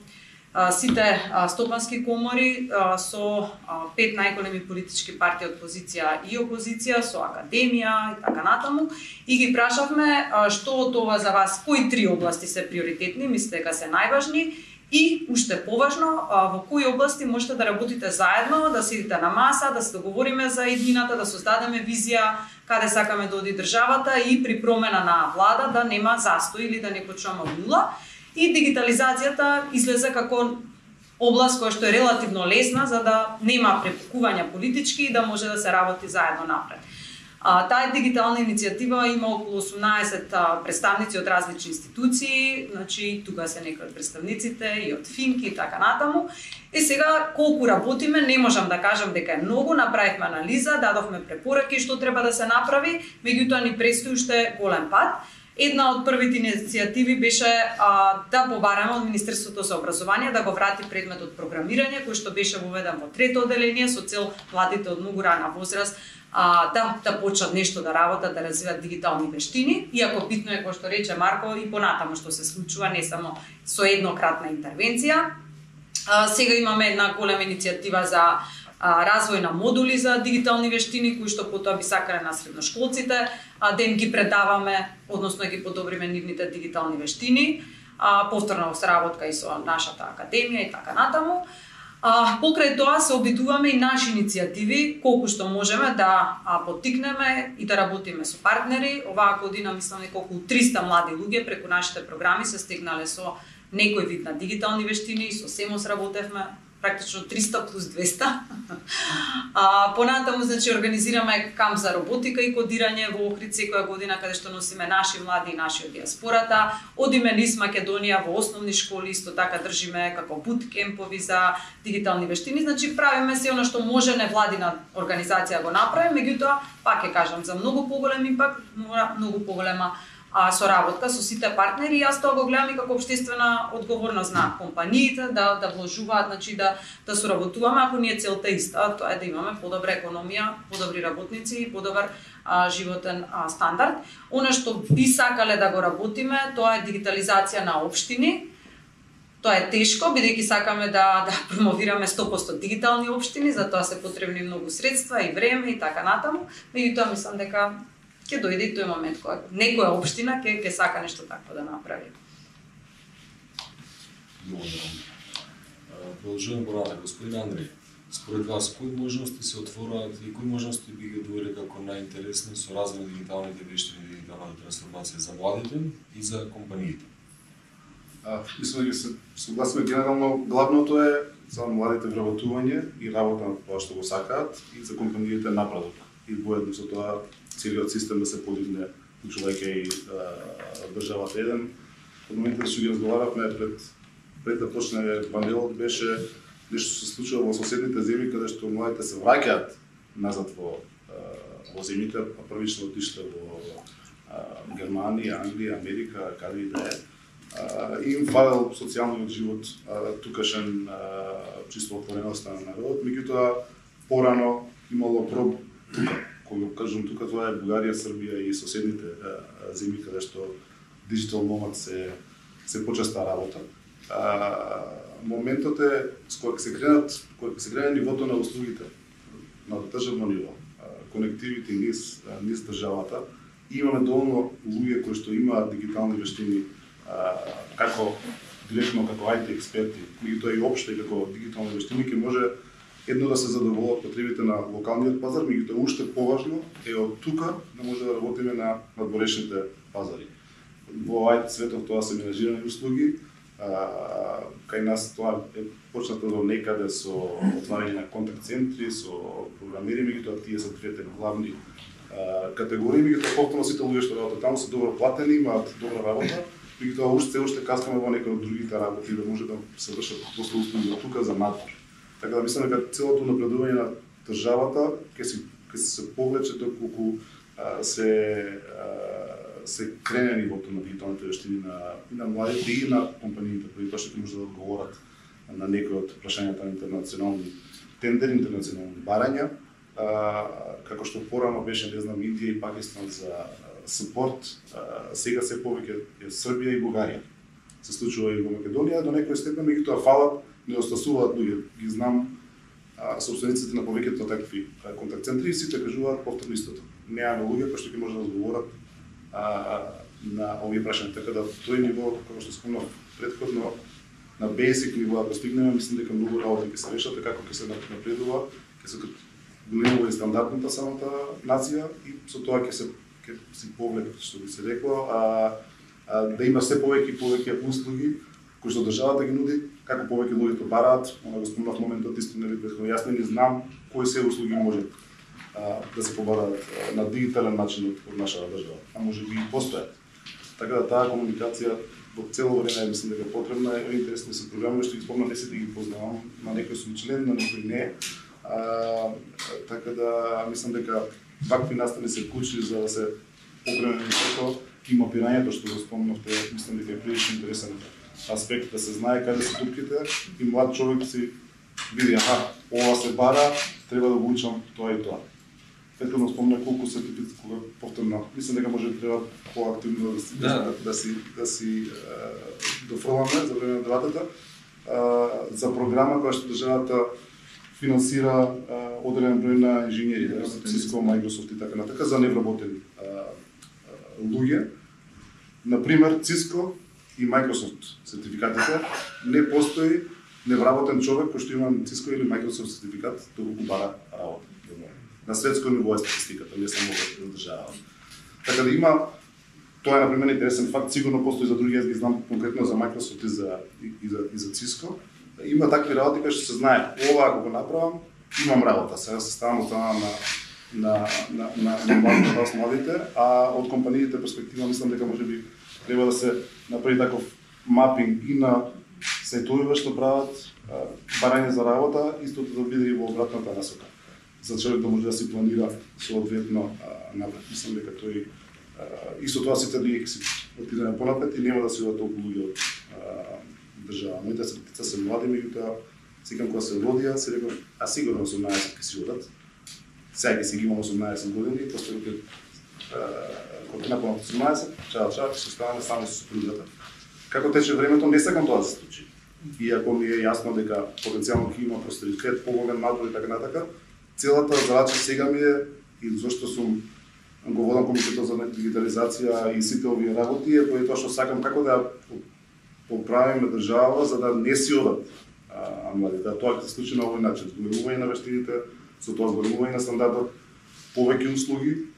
сите стопански комори, со 5 најголеми политички партии од позиција и опозиција, со академија и така натаму, и ги прашавме што од ова за вас, кои 3 области се приоритетни, мислите дека се најважни, и уште поважно, во кои области можете да работите заедно, да седите на маса, да се договориме за иднината, да создадеме визија каде сакаме да оди државата и при промена на влада да нема застој или да не почнеме од нула. И дигитализацијата излезе како област која што е релативно лесна за да нема препукувања политички и да може да се работи заедно напред. Таа дигитална иницијатива има околу 18 представници од различни институции, значи тука се некои од представниците и од Финки и така натаму. И сега колку работиме, не можам да кажам дека е многу, направивме анализа, дадовме препораки што треба да се направи, меѓутоа ни предстои уште голем пат. Една од првите иницијативи беше да побараме од Министерството за образование да го врати предметот програмирање, кој што беше воведен во 3-то одделение со цел младите од многу рана возраст да почнат нешто да работат, да развиват дигитални вештини, иако битно е, кој што рече Марко, и понатаму што се случува, не само со еднократна интервенција. Сега имаме една голема иницијатива за развој на модули за дигитални вештини, кои што потоа би сакале на средношколците да им ги предаваме, односно ги подобриме нивните дигитални вештини, повторна сработка и со нашата академија и така натаму. Покрај тоа се обидуваме и наши иницијативи, колку што можеме да поттикнеме и да работиме со партнери. Оваа година мислам дека околу 300 млади луѓе преку нашите програми се стигнале со некој вид на дигитални вештини, со СЕМОС работевме, практично 300 плюс 200. Понатаму, значи, организираме камп за роботика и кодирање во Охрид секоја година, каде што носиме наши млади и наши од диаспората. Одиме низ Македонија во основни школи, исто така држиме како буткемпови за дигитални вештини. Значи, правиме се оно што може невладина организација го направи, меѓутоа, пак ќе кажам, за многу поголем импакт, многу поголема соработка со сите партнери. Јас тоа го гледам и како општествена одговорност на компаниите да вложуваат, значи да соработуваме, ако ни е целта иста, тоа е да имаме подобра економија, подобри работници и подобар животен стандард. Она што би сакале да го работиме, тоа е дигитализација на општини. Тоа е тешко, бидејќи сакаме да промовираме 100% дигитални општини, за тоа се потребни многу средства и време и така натаму. Меѓутоа мислам дека ќе дојде и тој момент кога некоја општина ќе сака нешто такво да направи. Продолжуваме поратак, господин Андреј. Според вас, кои можности се отворуваат и кои можности би ги довели како најинтересни со развој на дигиталните вештини и дигиталната трансформација за младите и за компаниите? Мислам дека се согласиме генерално, главното е за младите вработување и работа на тоа што го сакаат и за компаниите напредок. И воедно со тоа целиот систем да се подигне, уклучувајќи и државата еден од моментот што ги разговаравме пред да почне панелот, беше нешто се случува во соседните земји каде што младите се враќаат назад во земјите, а првично отишле во Германија, Англија, Америка, каде и да е. Им фалел социјалниот живот, тукашен чисто отвореноста на народот, меѓутоа порано имало тука, кога кажам тука, тоа е Бугарија, Србија и соседните земји каде што диджитал номад се почеста работа. Моментот е кога се крene нивото на услугите на државно ниво, конективити низ државата, имаме доволно луѓе кои што имаат дигитални вештини како директно како IT експерти, меѓутоа и опште како дигитални вештини ќе може едно да се задоволат потребите на локалниот пазар, меѓутоа уште поважно е од тука да може да работиме на надворешните пазари. Во IT светот тоа се менажирани услуги, кај нас тоа е почнато до некаде со отварање на контакт центри, со програмери, меѓутоа тие се двете главни категории, меѓутоа повторно сите луѓе што работат таму се добро платени, имаат добра работа, меѓутоа уште каскаме во некои од другите работи да може да се вршат после услуги од тука за надвор. Така да мислам дека целото напредување на државата ќе се повлече доколку се крене нивото на дигиталните вештини на младите и на компаниите, преди тоа што може да одговорат на некои од прашањата на интернационални тендери, интернационални барања, како што порано беше, не знам, Индија и Пакистан за сапорт, сега се повеќе е Србија и Бугарија. Се случува и во Македонија до некој степен, меѓутоа фалат, недостасуваат луѓе. Ги знам собствениците на повеќето такви контакт центри и сите кажуваат повторно истото. Немаме луѓе кои што ќе може да одговорат на овие прашања, така да тој ниво, како што спомнав претходно, на basic ниво да постигнеме, мислам дека многу работи ќе се решат, како ќе се напредува, ќе се големува и стандардната самата нација и со тоа ќе си повлек, што би се рекло, да има се повеќе услуги кои што државата ги нуди, како повеќе луѓето бараат, она го спомнав моментот исто нели претходно, јас не знам кои се услуги може да се побараат на дигитален начин од нашата држава, а може би и постојат. Така да таа комуникација во цело време мислам дека потребна е, интересни се програми што ги спомнам, не сите ги познавам, на некој сум член, на некој не. Така да мислам дека вакви настани се клучни за да се покрене нивото и мапирањето што го спомнавте, мислам дека е прилично интересен аспект да се знае каде се дупките и млад човек си види, ова се бара, треба да го учам тоа и тоа. Петровно спомна колку сертифици, кога повторно, мислам дека може да треба поактивно да си дофрламе за време на дебатата за програма која што државата финансира одреден број на инженери, Cisco, Microsoft и така натака за невработени луѓе. Например, Cisco и Microsoft сертификатите не постои невработен човек кој што има Cisco или Microsoft сертификат доколку бара работа. На светско ниво е статистиката, не само во држава. Така да има, тоа е например интересен факт, сигурно постои за други, јас ги знам конкретно за Microsoft и за Cisco. Има такви работи кои што се знае, ова ако го направам, имам работа. Сега се ставам од на младите, а од компаниите перспектива мислам дека може би треба да се направи таков мапинг и на сајтовиве што прават барање за работа, истото да биде и во обратната насока. За човек да може да си планира соодветно напред. Мислам дека тој исто тоа сите луѓе ќе си отидеме понапред и нема да се одат толку луѓе од држава. Моите деца се млади, меѓутоа секам кога се родија, се реков, сигурно 18 ќе си одат. Сега ќе си ги имам 18 години, после кога напълно 18, чао, ќе се оставаме само со супругата. Како тече времето, не сакам тоа да се случи. Иако ми е јасно дека потенцијално ќе има просперитет, поголем надвор и така натака, целата задача сега ми е и зашто сум го водам комитетот за дигитализација и сите овие работи е тоа што сакам како да поправиме држава за да не си одат младите. Тоа ќе се случи на овој начин, зголемување на вештините, со тоа зголемување на стандардот, повеќе услуги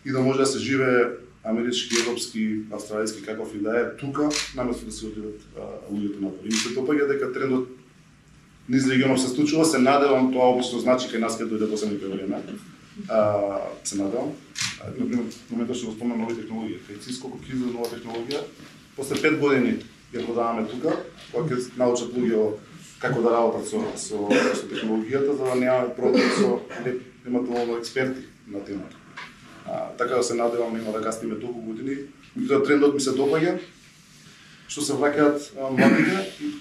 и да може да се живее амерички, европски, австралијски, каков и да е тука, наместо да се отидат луѓето напор. И се допаѓа дека трендот низ регионов се случува, се надевам, тоа обично значи кај нас ќе дојде после некој време. Се надевам. Например, во моментот што го спомнам нови технологии, кај Cisco кога излезе нова технологија, после 5 години ја продаваме тука, кога ќе научат луѓе како да работат со технологијата, за да немаме проблем со немателно експерти на темата. Така да се надевам нема да кастиме толку години. Меѓутоа трендот ми се допаѓа, што се враќаат младите,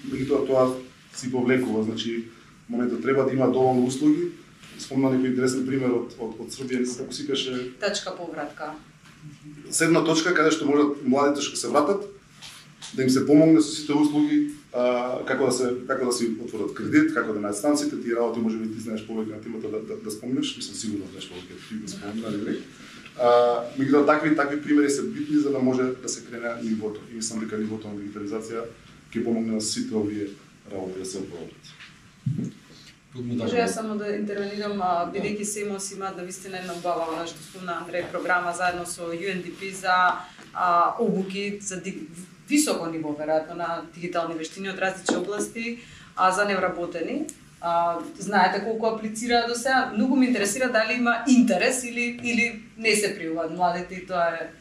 меѓутоа тоа си повлекува, значи моментот треба да има доволно услуги. Спомна некој интересен пример од Србија, како си каже Тачка повратка. Седна точка каде што можат младите што се вратат да им се помогне со сите услуги, како да си отворат кредит, како да најдат станците, тие работи можеби ти знаеш повеќе на темата да спомнеш, мислам сигурно знаеш повеќе ти да спомнеш. Меѓутоа такви примери се битни за да може да се крене нивото. И мислам дека нивото на дигитализација ќе помогне на сите овие работи да се оправдат. Може ја само да интервенирам, бидејќи СЕМОС има навистина една убава, она што спомна Андреј, програма заедно со UNDP за обуки за високо ниво, веројатно, на дигитални вештини од различни области, за невработени. Знаете колку аплицира до сега? Многу ме интересира дали има интерес или не се пријавуваат младите и тоа е...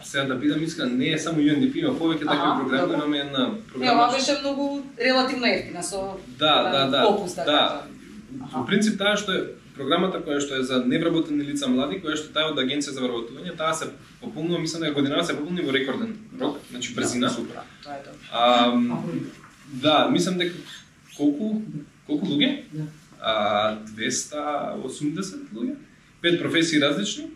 Сега да бидам искрен, не е само UNDP, има повеќе такви програми, имаме една програма. Ова беше многу релативно ефтина со попуст, да. Во принцип таа што е програмата која што е за невработени лица млади, која што таа од Агенција за вработување, таа се пополнува, мислам дека годинава се пополни во рекорден рок, значи брзина. Супер. Тоа е тоа. Да, мислам дека колку луѓе? 280 луѓе. 5 професии различни.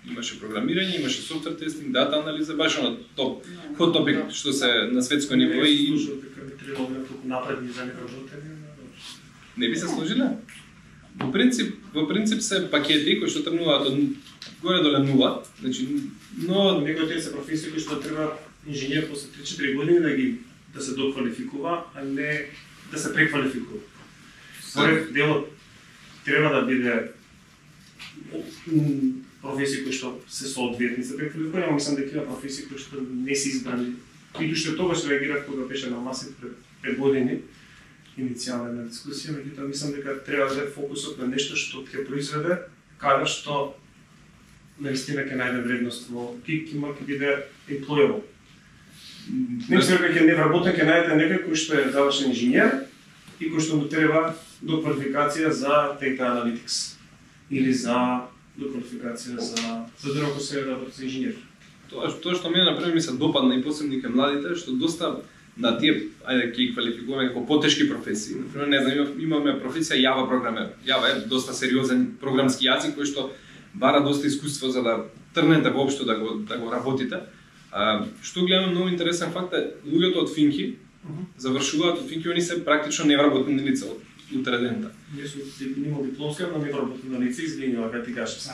Имаше програмирање, имаше софтвер тестинг, дата анализа, баш на топ хот топик што се на светско ниво и напредни за невработени. Не би се сложиле? Во принцип се пакети кои што тргнуваат од горе доле нула, значи но некои од тие се професии кои што треба инженер после 3-4 години да се доквалификува, а не да се преквалификува. Според делот треба да биде професии кои што се соодветни за преквалификување, мислам дека има професии кои што не се избрани. И што тогаш реагирав кога беше на масите пред 5 години, иницијална дискусија, меѓутоа мислам дека треба да е фокусот на нешто што ќе произведе, каде што наистина ќе најде вредност во ќе биде employable. Не мислам дека ќе невработен ќе најдете некој кој што е завршен инженер и кој што му треба доквалификација за data analytics или за доквалификација за друго кој се работи за инженер. Тоа што мене например ми се допадна и посебно кај младите, што доста на тие, ајде ќе ги квалификуваме како потешки професии. Например, не знам, имаме професија Java програмер. Java е доста сериозен програмски јазик кој што бара доста искуство за да тргнете воопшто да го работите. Што гледаме многу интересен факт е луѓето од Финки завршуваат од Финки, они се практично невработени лица од утредента. Нема дипломска, но невработено лице извинува кога ти кажеш.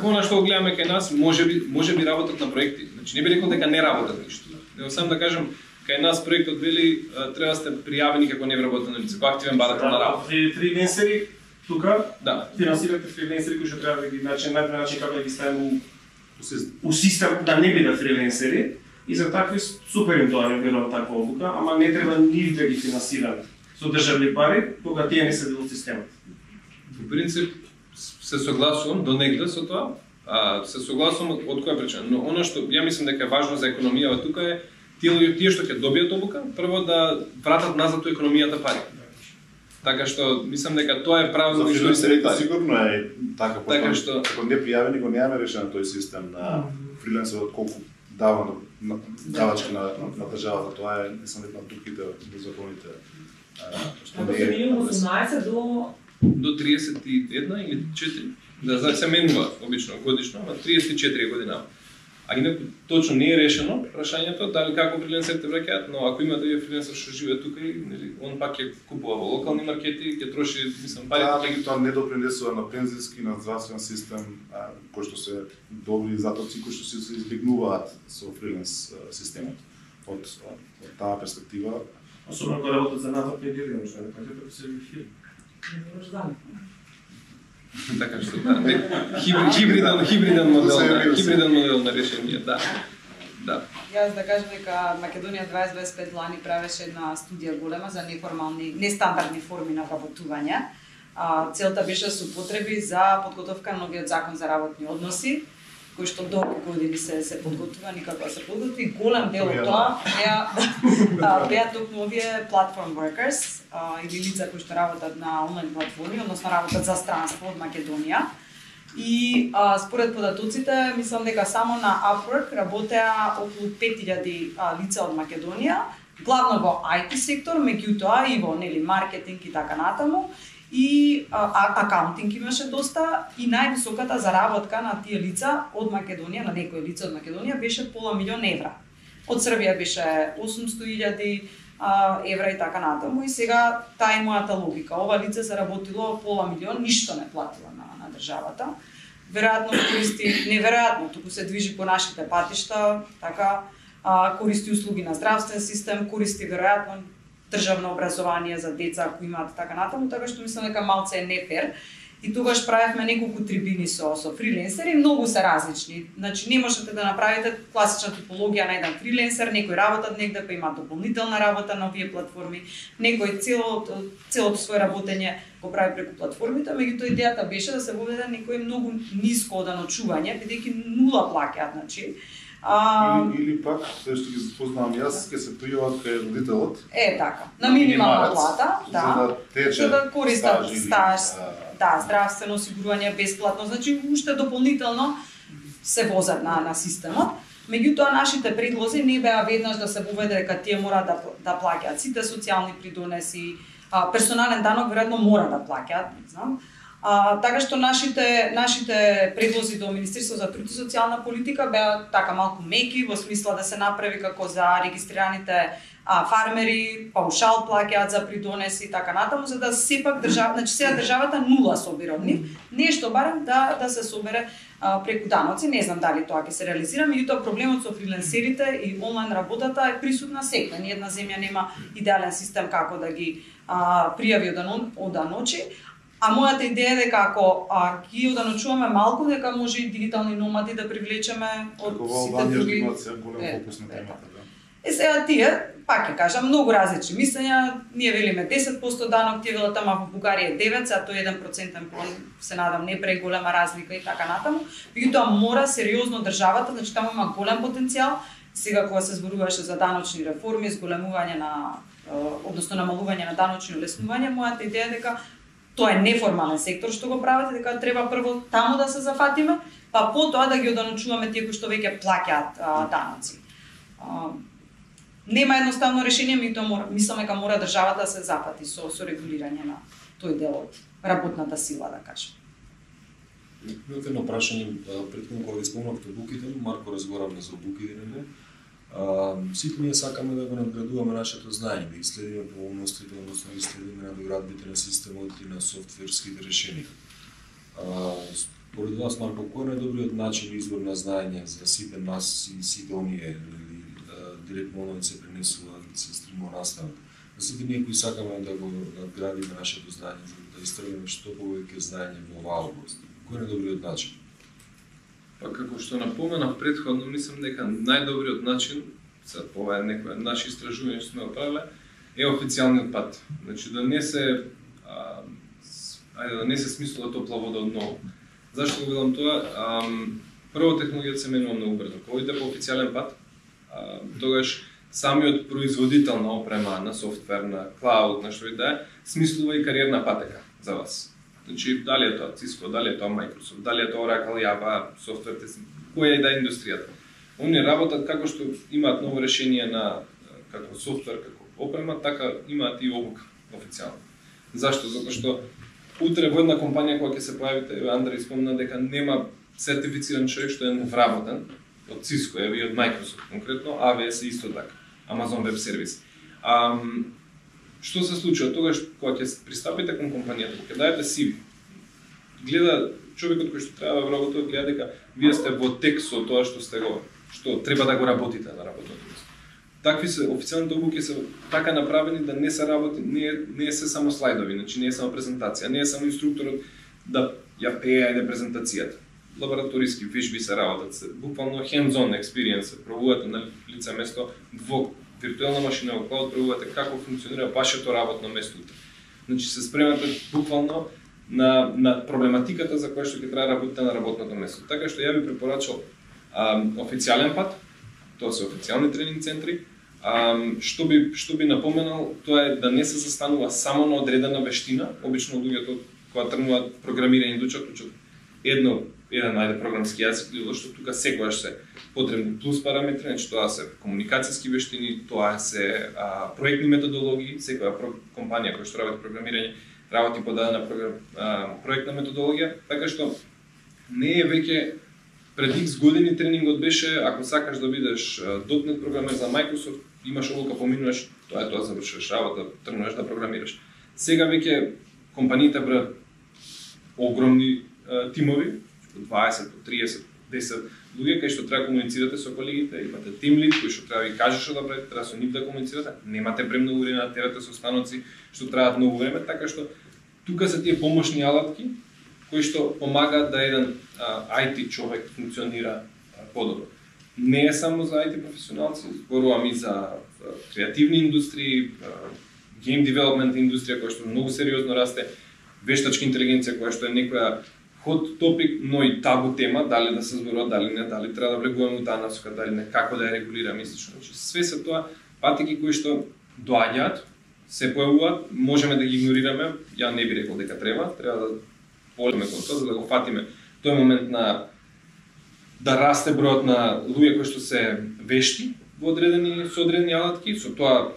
Она што гледаме кај нас можеби работат на проекти. Значи не би рекол дека не работат ништо. Него сам да кажам, кај нас проектот вели треба да сте пријавени како невработено лице, како активен барател на работа. Фриленсери тука да финансирате фриленсери кои што треба да ги најден начин како да ги ставиме у систем да не бидат фриленсери и за такви супер им тоа не верувам таква обука, ама не треба нив да ги финансираме со државни пари кога тие не се дел од системот. Во принцип се согласувам до негде со тоа, се согласувам од која причина, но она што ја мислам дека е важно за економијава тука е тие што ќе добијат обука, прво да вратат назад у економијата пари. Така што мислам дека тоа е правилно за фрилансерите пари. сигурно е така, така што ако не пријавени го немаме решен тој систем на фрилансерот колку дава на давачки на државата, тоа е не само една од тутките во законите. Што не е минимум 18 до 31 или 4. Да, се менува обично годишно, ама 34 година. А инаку точно не е решено прашањето дали како фриленсерите враќаат, но ако има да е фриленсер што живее тука и нели он пак ќе купува во локални маркети, ќе троши мислам пари. Да, тоа не допринесува на пензиски, на здравствен систем, кои што се добри затоци кои што се избегнуваат со фриленс системот. Од таа перспектива, особено кога работат за надвор педирано, што не кажете да се филм. Така што хибриден модел на решение, да. Јас да кажам дека Македонија 2025 лани правеше една студија голема за неформални, нестандардни форми на вработување. Целта беше со потреби за подготовка на новиот закон за работни односи, кој што долги години се подготвува, никако се подготви. Голем дел од тоа беа токму овие platform workers или лица кои што работат на онлайн платформи, односно работат за странство од Македонија. И според податоците, мислам дека само на Upwork работеа околу 5000 лица од Македонија, главно во IT сектор, меѓутоа и во маркетинг и така натаму. И акаунтинг имаше доста и највисоката заработка на тие лица од Македонија, на некои лица од Македонија беше пола милион евра. Од Србија беше 800.000 евра и така натаму. И сега таа е мојата логика. Ова лице се работило пола милион, ништо не платило на државата. Веројатно користи, неверојатно, туку се движи по нашите патишта, така користи услуги на здравствен систем, користи веројатно државно образование за деца кои имаат така натаму, така што мислам дека малце е нефер. И тогаш правевме неколку трибини со фриленсери, многу се различни. Значи не можете да направите класична типологија на еден фриленсер, некој работат негде па има дополнителна работа на овие платформи, некој целото свое работење го прави преку платформите, меѓутоа идејата беше да се воведе некој многу ниско оданочување, бидејќи нула плаќаат, значи. Или пак, се што ги запознавам јас, ќе се пријават кај родителот. Така, на минимална плата, за да користат стаж, здравствено осигурување бесплатно, значи уште дополнително се возат на системот. Меѓутоа нашите предлози не беа веднаш да се воведе дека тие мора да плаќаат сите социјални придонеси, персонален данок веројатно мора да плаќаат, не знам. Така што нашите предлози до Министерството за труд и социјална политика беа така малку меки, во смисла да се направи како за регистрираните фармери, паушал плаќаат за придонеси и така натаму, за да сепак значи сега државата нула собира од нив, нешто барем да се собере преку даноци. Не знам дали тоа ќе се реализира, меѓутоа проблемот со фрилансерите и онлайн работата е присутна секогаш. Ни една земја нема идеален систем како да ги пријави оданочи. А мојата идеја е дека ако ги оданочуваме малку, дека може и дигитални номади да привлечеме од сите други. Сега тие, пак ќе кажам, многу различни мислења. Ние велиме 10% данок, тие велат ама во Бугарија е 9%, а тој 1% се надам не преголема разлика и така натаму. Меѓутоа мора сериозно државата, значи таму има голем потенцијал. Сега кога се зборуваше за даночни реформи, зголемување односно намалување на даночни олеснувања, мојата идеја е дека тоа е неформален сектор што го правите, дека треба прво таму да се зафатиме, па потоа да ги оданочуваме тие кои што веќе плаќаат даноци. Нема едноставно решение, мислам дека мора државата да се зафати со регулирање на тој дел од работната сила, да кажем. Имате едно прашање, претходно кога ги спомнавте буките, Марко разговаравме за буките, сите ние сакаме да го надградуваме нашето знаење, да исследиме поволностите, односно да исследиме надоградбите на системот и на софтверските решенија. Според вас, Марко, кој е најдобриот начин извор на знаење за сите нас и сите оние, директно оној се пренесува, се стримува наставата? За сите ние кои сакаме да го надградиме нашето знаење, да истргнеме што повеќе знаење во оваа област, кој е најдобриот начин? Па како што напоменав претходно, мислам дека најдобриот начин, за ова е некоја наши истражување што сме направиле, е официјалниот пат. Значи да не се смислува топла вода одново. Зашто го велам тоа? Прво, технологијата се менува многу брзо. Кога идете по официјален пат, тогаш самиот производител на опрема, на софтвер, на клауд, на што и да е, смислува и кариерна патека за вас. Значи, дали е тоа Cisco, дали е тоа Microsoft, дали е тоа Oracle, Java, софтверите, која и да е индустријата. Они работат како што имаат ново решение на како софтвер, како опрема, така имаат и обука официјално. Зашто? Затоа што утре во една компанија која ќе се појавите, Андреј спомна дека нема сертифициран човек што е вработен од Cisco, и од Microsoft конкретно, AWS е исто така, Amazon Web Service. Што се случува тогаш кога ќе пристапите кон компанијата, кога ќе дајете CV, гледа човекот кој што треба да вработува, гледа дека вие сте во тек со тоа што треба да го работите на работното место. Такви се официјалните обуки се така направени да не се работи, не е се само слайдови, значи не е само презентација, не е само инструкторот да ја пее презентацијата. Лабораториски вежби се работат, буквално hands-on experience, пробувате на лице место во виртуелна машина во клауд, пробувате како функционира вашето работно место. Значи се спремате буквално на проблематиката за која што ќе треба работите на работното место. Така што ја би препорачал официјален пат, тоа се официјални тренинг центри. Што би напоменал, тоа е да не се застанува само на одредена вештина. Обично луѓето кога тргнуваат програмирање учат еден програмски јазик, што тука секогаш се потребни плюс параметри, значи тоа се комуникацијски вештини, тоа се проектни методологии, секоја компанија која што работи програмирање работи по дадена проектна методологија, така што не е веќе пред X години тренингот беше ако сакаш да бидеш .NET програмер за Microsoft, имаш одлука, поминуваш, тоа завршуваш работа, тргнуваш да програмираш. Сега веќе компаниите браат огромни тимови, 20, 30, 10 луѓе кај што треба комуницирате со колегите, имате тим лид кој што треба ви каже што да правите, треба со нив да комуницирате, немате премногу време да терате со станоци што траат многу време, така што тука се тие помошни алатки кои што помагаат да еден IT човек функционира подобро. Не е само за IT професионалци, зборувам и за креативни индустрии, game development индустрија која што многу сериозно расте, вештачка интелигенција која што е некоја hot topic, но и табу тема, дали да се зборува, дали не, дали треба да влегуваме у таа насока, дали не, како да ја регулираме и слично. Значи, све се тоа патеки кои што доаѓаат, се појавуваат, можеме да ги игнорираме, ја не би рекол дека треба да полеме кон тоа, за да го фатиме тој момент на да расте бројот на луѓе кои што се вешти во со одредени алатки, со тоа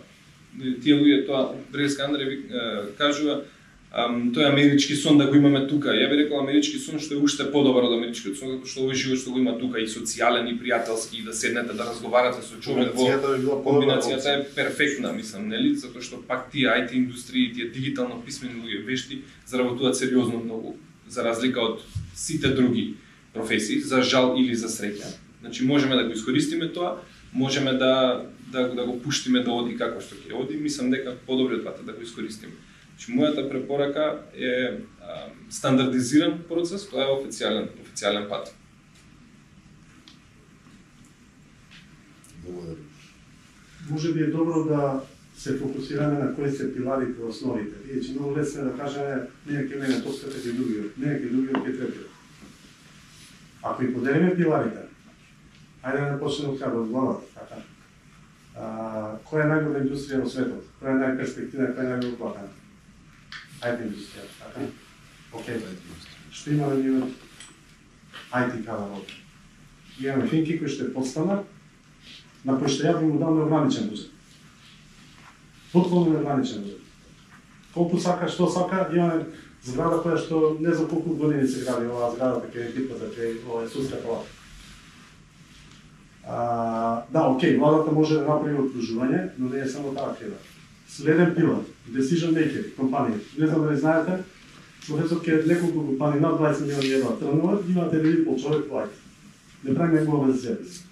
тие луѓе тоа Брелска Андреј кажува тој амерички сон да го имаме тука. Ја би рекол амерички сон што е уште подобар од америчкиот сон, затоа што овој живот што го има тука и социјален и пријателски, и да седнете да разговарате со човек во комбинацијата е перфектна, мислам, нели? Затоа што пак тие IT индустрии, тие дигитално писмени луѓе вешти заработуваат сериозно многу, за разлика од сите други професии, за жал или за среќа. Значи можеме да го искористиме тоа, можеме да го пуштиме да оди како што ќе оди, мислам дека подобриот пат е да го искористиме. Значи, мојата препорака е стандардизиран процес, тоа е официјален пат. Благодарам. Може би е добро да се фокусираме на кои се пиларите, основите. Иначе многу лесно е да кажеме, не ќе мене тоската ќе другиот, не ќе другиот ќе третиот. Ако и поделиме пиларите, ајде да почнеме од каде, од главата, така. Која е најголема индустрија во светот? Која е најперспективна, која е најголема платена? IT индустрија, така? Океј. Што имаме ние од IT кадар овде? Имаме финки кои што е подстандард, на кој што ја би му дал неограничен буџет. Потполно неограничен буџет. Колку сака, што сака, имаме зграда која што не за колку години се гради оваа зграда, така е типата, ова е судска палата. Да, окей, владата може да направи окружување, но не е само таа креда. Следен пилар, decision maker, компанија. Не знам дали знаете, професор ке неколку компании над 20 милиони евра тргнуваат, имате ли пол човек плаќа. Не прави негова за себе си.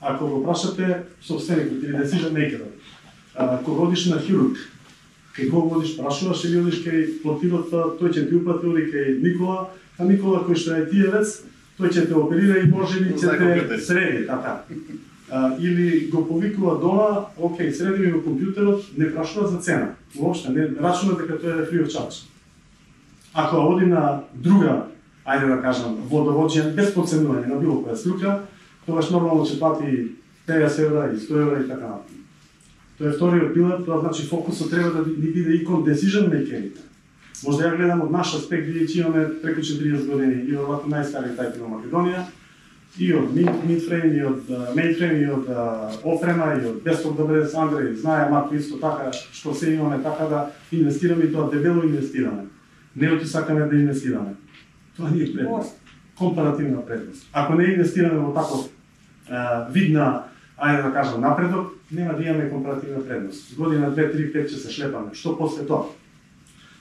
Ако го прашате собственикот или decision maker, кога одиш на хирург, кај кога одиш прашуваш или одиш кај плотилот, тој ќе ти упрати, оди кај Никола, а Никола кој што е IT-евец, тој ќе те оперира и може ли ќе те среди, така. Или го повикува дома, окей, среди ми во компјутерот, не прашува за цена. Воопшто не рачуна дека тоа е free of charge. Ако оди на друга, ајде да кажам, водовоđен без потценување на било која струка, тогаш нормално ќе плати 50 евра и 100 евра и така натаму. Тоа е вториот пилар, тоа значи фокусот треба да ни биде и кон decision maker. Може да ја гледам од наш аспект, бидејќи имаме преку 40 години и веројатно најстариот IT на Македонија, и од Midframe, и од Mainframe, и од Ofrema, и од Desktop DBS, Андреј знае Марко исто така, што се имаме така да инвестираме и тоа дебело инвестираме. Не оти сакаме да инвестираме. Тоа не е предност. Компаративна предност. Ако не инвестираме во таков вид на, ајде да кажам, напредок, нема да имаме компаративна предност. Година, 2, 3, 5 ќе се шлепаме. Што после тоа?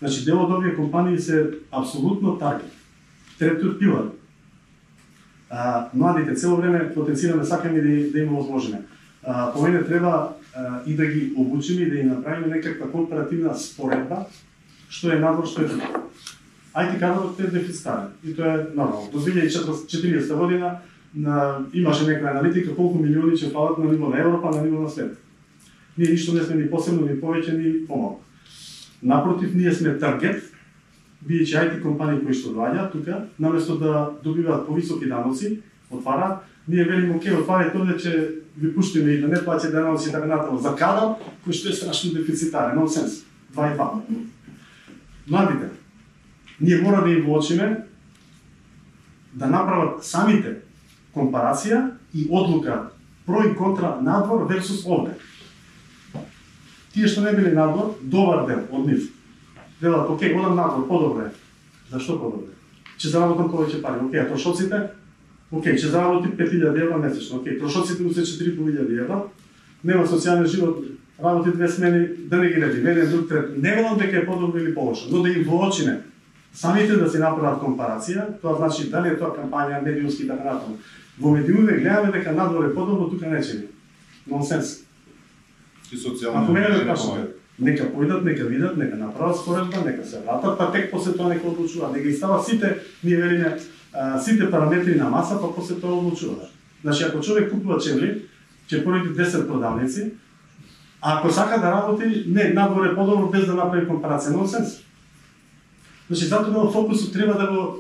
Значи, дел од овие компании се апсолутно таргет. Третиот пилар. Младите цело време потенцираме, сакаме да им возможиме. По мене треба и да ги обучиме и да им направиме некаква компаративна споредба, што е надвор, што е тука. IT кадрот е дефицитарен и тоа е нормално. До 2040 година имаше некоја аналитика колку милиони ќе фалат на ниво на Европа, на ниво на свет. Ние ништо не сме ни посебно, ни повеќе, ни помалку. Напротив, ние сме таргет бидејќи IT компании кои што доаѓаат тука, наместо да добиваат повисоки даноци, отвараат, ние велиме окей, отварајте овде че ви пуштиме и да не плаќате даноци и така натаму за кадар кој што е страшно дефицитарен, нонсенс. 2 и 2. Младите, ние мора да им воочиме да направат самите компарација и одлука про и контра надвор версус овде. Тие што не били надвор, добар дел од нив. Велат, окей, одам надвор, подобре. Зашто подобре? Че заработам повеќе пари. Окей, трошоците? Окей, че заработи 5000 евра месечно. Окей, трошоците му се 4500 евра. Нема социјален живот, работи 2 смени, да не ги реди, еден друг трет. Не велам дека е подобро или полошо, но да им воочиме. Самите да си направат компарација, тоа значи дали е тоа кампања, медиумски и така натаму. Во медиумите гледаме дека надвор е подобро, тука не чини. Нонсенс. И социјално. Ако мене ме прашате, нека појдат, нека видат, нека направат споредба, нека се вратат, па тек после тоа нека одлучуваат. Нека ги става сите, ние велиме, сите параметри на маса, па после тоа одлучуваат. Значи, ако човек купува чевли, ќе породи 10 продавници, а ако сака да работи, не, надвор е подобро без да направи компарација. Нонсенс. Значи, затоа фокусот треба да го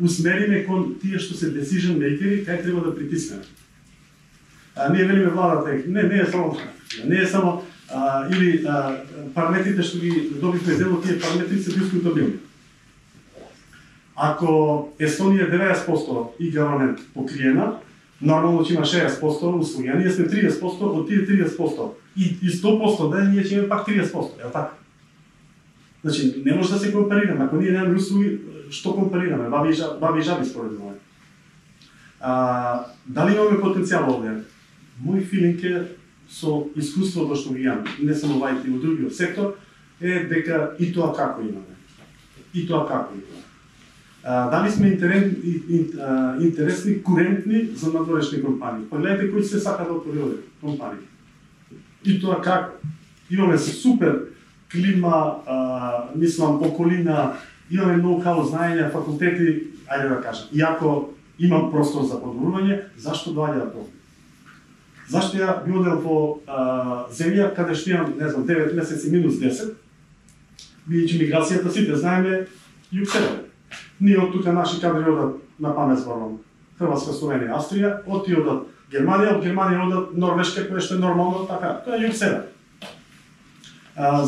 усмериме кон тие што се decision makeri, кај треба да притиснеме. Ние велиме владата, не е само или параметрите што ги добивме дело, тие параметри се дискутабилни. Ако Естонија е 90% и government покриена, нормално ќе има 60% услуги, а ние сме 30% од тие 30%. И 100% да ние ќе имаме пак 30%, е така? Значи, не може да се компарираме. Ако ние немаме услуги, што компарираме? Баби и жаби според мене. Дали имаме потенцијал овде? Мој филинг е со искуството што ги имам, не само во IT, и во другиот сектор, е дека и тоа како имаме. Дали сме интересни, курентни за надворешни компании? Погледнете кои се сака да отвори овде компании. И тоа како? Имаме супер клима, мислам, околина, имаме ноу-хау знаења, факултети, ајде да кажам. И ако имам простор за подобрување, зашто доаѓаат овде? Зашто ја би одел во земја каде што имам, не знам, 9 месеци минус 10, бидејќи миграцијата сите знаеме југ-север. Ние од тука наши кадри одат на памет зборувам Хрватска, Словенија, Австрија, од тие одат Германија, од Германија одат Норвешка, која што е нормално така. Тоа е југ-север.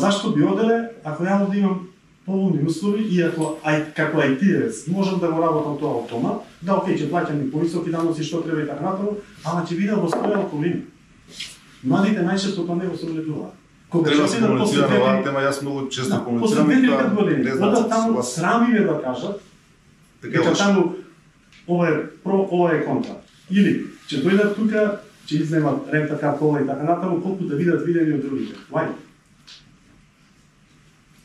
Зашто би оделе ако ја да имам поволни услови и ако како IT-евец можам да го работам тоа од дома, да окей, ќе плаќам и повисоки даноци што треба и така натаму, ама ќе видам во своја околина. Младите најчесто тоа не го согледуваат. Кога ќе се комуницира на оваа тема, јас многу често комуницирам и тоа не знаат таму срами ме да кажат дека таму ова е про, ова е контра. Или ќе дојдат тука, ќе изземат рента карта и така натаму, колку да видат видени од другите. Вај.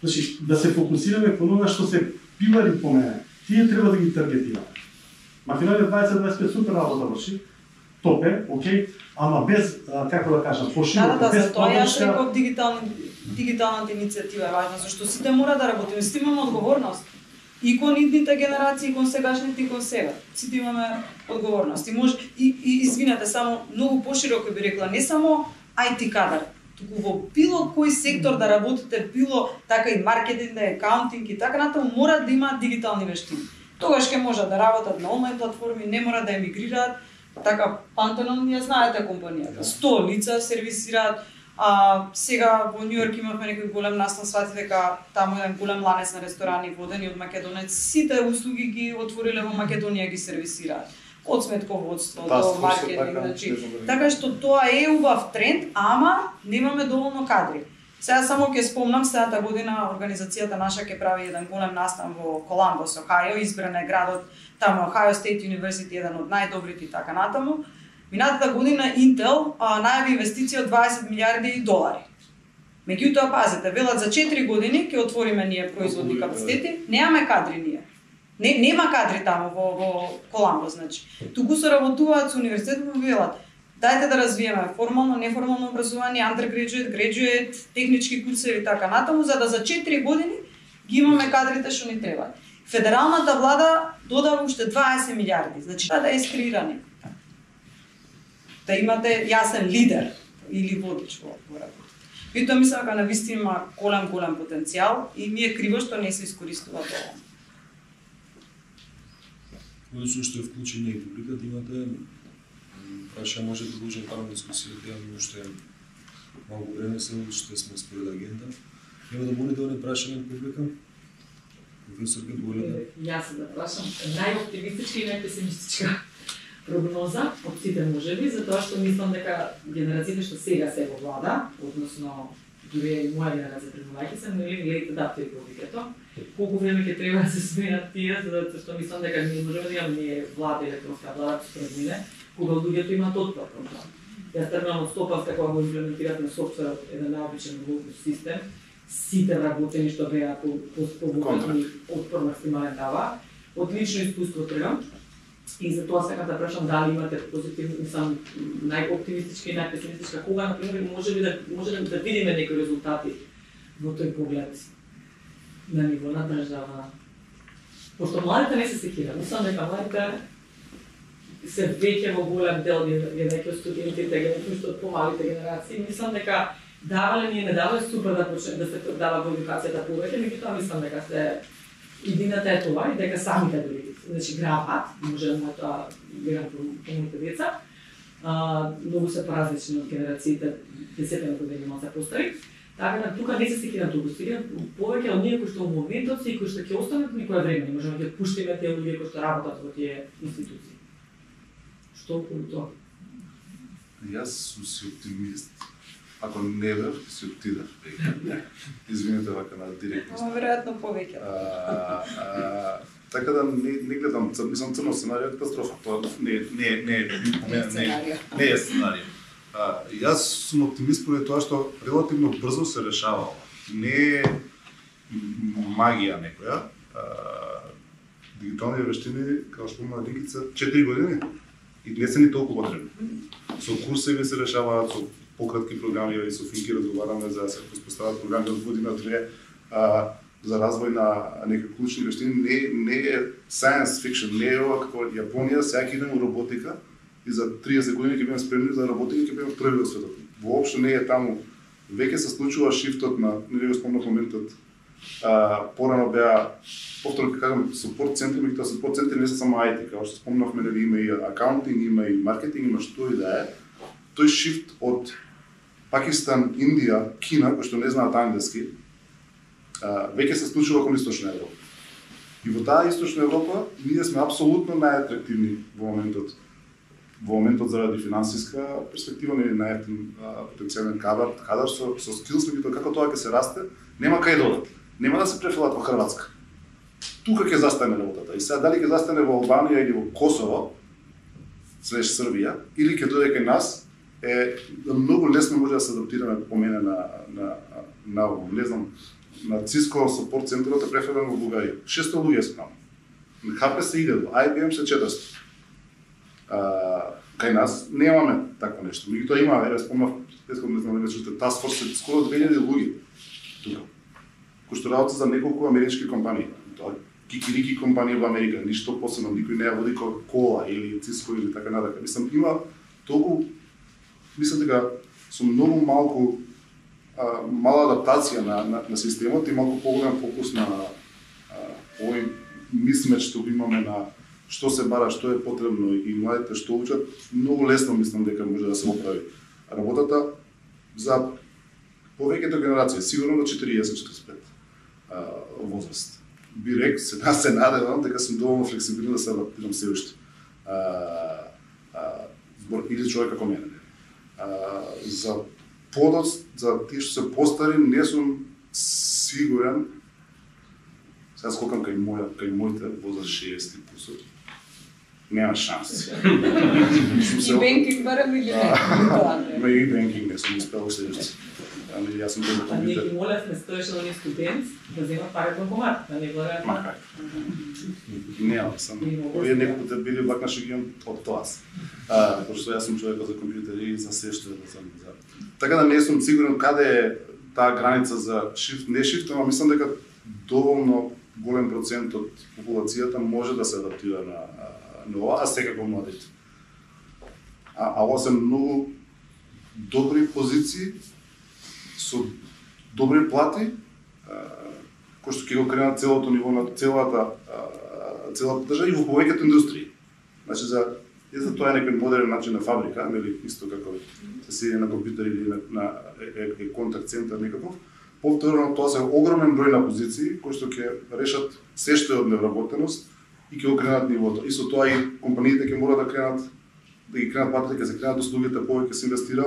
Значи, да се фокусираме кон она што се пилари по мене. Тие треба да ги таргетираме. Македонија 2025 супер работа врши, топ е, окей, ама без, како да кажам, пошироко, без тоа јас реков дигиталната иницијатива е важна, зашто сите мора да работиме, сите имаме одговорност. И кон идните генерации, и кон сегашните, и кон сега. Сите имаме одговорност. И извинете, само многу пошироко би рекла, не само IT кадар, туку во било кој сектор да работите, било така и маркетинг, да е акаунтинг и така натаму, мора да има дигитални вештини. Тогаш ќе можат да работат на онлайн платформи, не мора да емигрираат. Така, Пантенон, ја знаете компанијата. 100 лица сервисираат. Сега во Њу Йорк имавме некој голем настан, свати дека таму еден голем ланец на ресторани водени од Македонец, сите услуги ги отвориле во Македонија, ги сервисираат. Од сметководство до маркетинг, значи. Така што тоа е убав тренд, ама немаме доволно кадри. Сега само ќе спомнам, следната година организацијата наша ќе прави еден голем настан во Коламбос, Охајо, избран е градот, таму Ohio State University, еден од најдобрите и така натаму. Минатата година Intel најави инвестиција од 20 милиарди долари. Меѓутоа, пазете, велат за 4 години ќе отвориме ние производни капацитети, немаме кадри ние. Нема кадри таму во Коламбос, значи. Туку се работуваат со универзитетот, велат, дајте да развиеме формално, неформално образование, undergraduate, graduate, технички курсеви и така натаму, за да за 4 години ги имаме кадрите што ни треба. Федералната влада додава уште 20 милиарди, значи да е скрирани. Да имате јасен лидер или водич во работа. И тоа мислам дека навистина има голем потенцијал и ми е криво што не се искористува тоа. Односно што е вклучена и публиката, имате прашање, може да продолжим парам дискусијата, но уште малку време се, уште сме според агенда. Има да будете да прашање од публика? Професорка, доволна? Јас да прашам најоптимистичка и најпесимистичка прогноза од сите можеби, затоа што мислам дека генерациите што сега се во влада, односно дури и моја генерација премувајќи се, нели лет адаптира повеќето. Колку време ќе треба да се сменат тие, затоа што мислам дека ние можеме да имаме ние влада, електронска влада според мене, кога луѓето имаат отпор кон тоа. Јас тргнам од стопавска кога го имплементират на софтверот еден наобичен Windows систем, сите работени што беа по отпор максимален дава. Од лично искуство тргам. И за тоа сакам да прашам дали имате позитивни, мислам, најоптимистичка и најпесимистичка, кога, например, може да видиме некои резултати во тој поглед на ниво на држава. Пошто младите не се секираат, мислам дека младите се веќе во голем дел веќе студентите, што од помалите генерации, мислам дека давале ни не давале супер да почне да се дава во едукацијата повеќе, меѓутоа мислам дека се идината е тоа и дека самите дори грабат, може да тоа гледам помалите деца, многу се поразлични од генерациите 10 години малку постари. Така да тука не се секирам толку, секирам повеќе од ние кои што во моментот се и кои што ќе останат некоја време, можеме да пуштиме тие луѓе кои што работат во тие институции. Што околу тоа? Јас сум си оптимист. Ако не бев, си отидав. Извинете вака на директност. Ама веројатно повеќе. Така да не гледам, мислам црно сценарија катастрофа. Тоа не е сценарија. Јас сум оптимист поради тоа што релативно брзо се решава. Не е магија некоја. Дигитални вештини, како спомна Ликица, 4 години и не се ни толку потребни. Со курсеви се решаваат, со пократки програми и со Финки разговараме за да се постават програми од година-две за развој на некои клучни вештини. Не е science fiction, не е ова како Јапонија, сега идеме во роботика и за 30 години ќе бидеме спремни за роботика и ќе бидеме први во светот. Воопшто не е таму. Веќе се случува шифтот на, не го спомнав моментот, порано беа, повторно ќе кажам, support центри, меѓутоа support центри не се само IT, како што спомнавме, нели има и акаунтинг, има и маркетинг, има што и да е. Тој шифт од Пакистан, Индија, Кина, кои што не знаат англиски, веќе се случува кон Источна Европа. И во таа Источна Европа ние сме апсолутно најатрактивни во моментот заради финансиска перспектива, не најактивен потенцијален кадар со скилс, меѓутоа како тоа ќе се расте, нема кај да одат. Нема да се префрлат во Хрватска. Тука ќе застане работата. И сега дали ќе застане во Албанија или во Косово, слеш Србија, или ќе дојде кај нас, е многу лесно може да се адаптираме по мене на не знам, на Cisco support центарот е префрлен во Бугарија. 600 луѓе се таму. HP се иде, IBM се 400. Кај нас немаме такво нешто. Меѓутоа има, еве спомнав, не знам дали чувате, Task Force скоро 2000 луѓе тука. Кои што работат за неколку амерички компании. Тоа кикирики компании во Америка, ништо посебно, никој не ја води Coca-Cola или Cisco или така натака. Мислам, има толку, мислам дека со многу малку мала адаптација на системот и малку поголем фокус на овој мисмеч што го имаме на што се бара, што е потребно и младите што учат, многу лесно мислам дека може да се оправи работата за повеќето генерации, сигурно до 40-45 возраст. Би рек, се надевам дека сум доволно флексибилен да се адаптирам се уште. Збор или човек како мене. За подоц, за тие што се постари, не сум сигурен. Сега скокам кај моите возраст 60 плюс. Нема шанс. И бенкинг барам или не? Ма и бенкинг не сум успел следващи. Ами јас сум бил А ние ги молевме стојшелни студент да земат пари од банкомат, да не гледаат. Нема, сам. Овие некои пати били вакна шегион од тоа. Пошто јас сум човек за компјутери и за се што за. Така да не сум сигурен каде е таа граница за шифт, не шифт, ама мислам дека доволно голем процент од популацијата може да се адаптира на ова, а секако младите. А ова се многу добри позиции со добри плати, кој што ќе го кренат целото ниво на целата држава и во повеќето индустрии. Значи за тоа е некој модерен начин на фабрика, нели исто како се седи на компјутер или на контакт центар некаков. Повторно тоа се огромен број на позиции кои што ќе решат се што е од невработеност и ќе го кренат нивото. И со тоа и компаниите ќе мора да ги кренат платите, ќе се кренат услугите, повеќе се инвестира,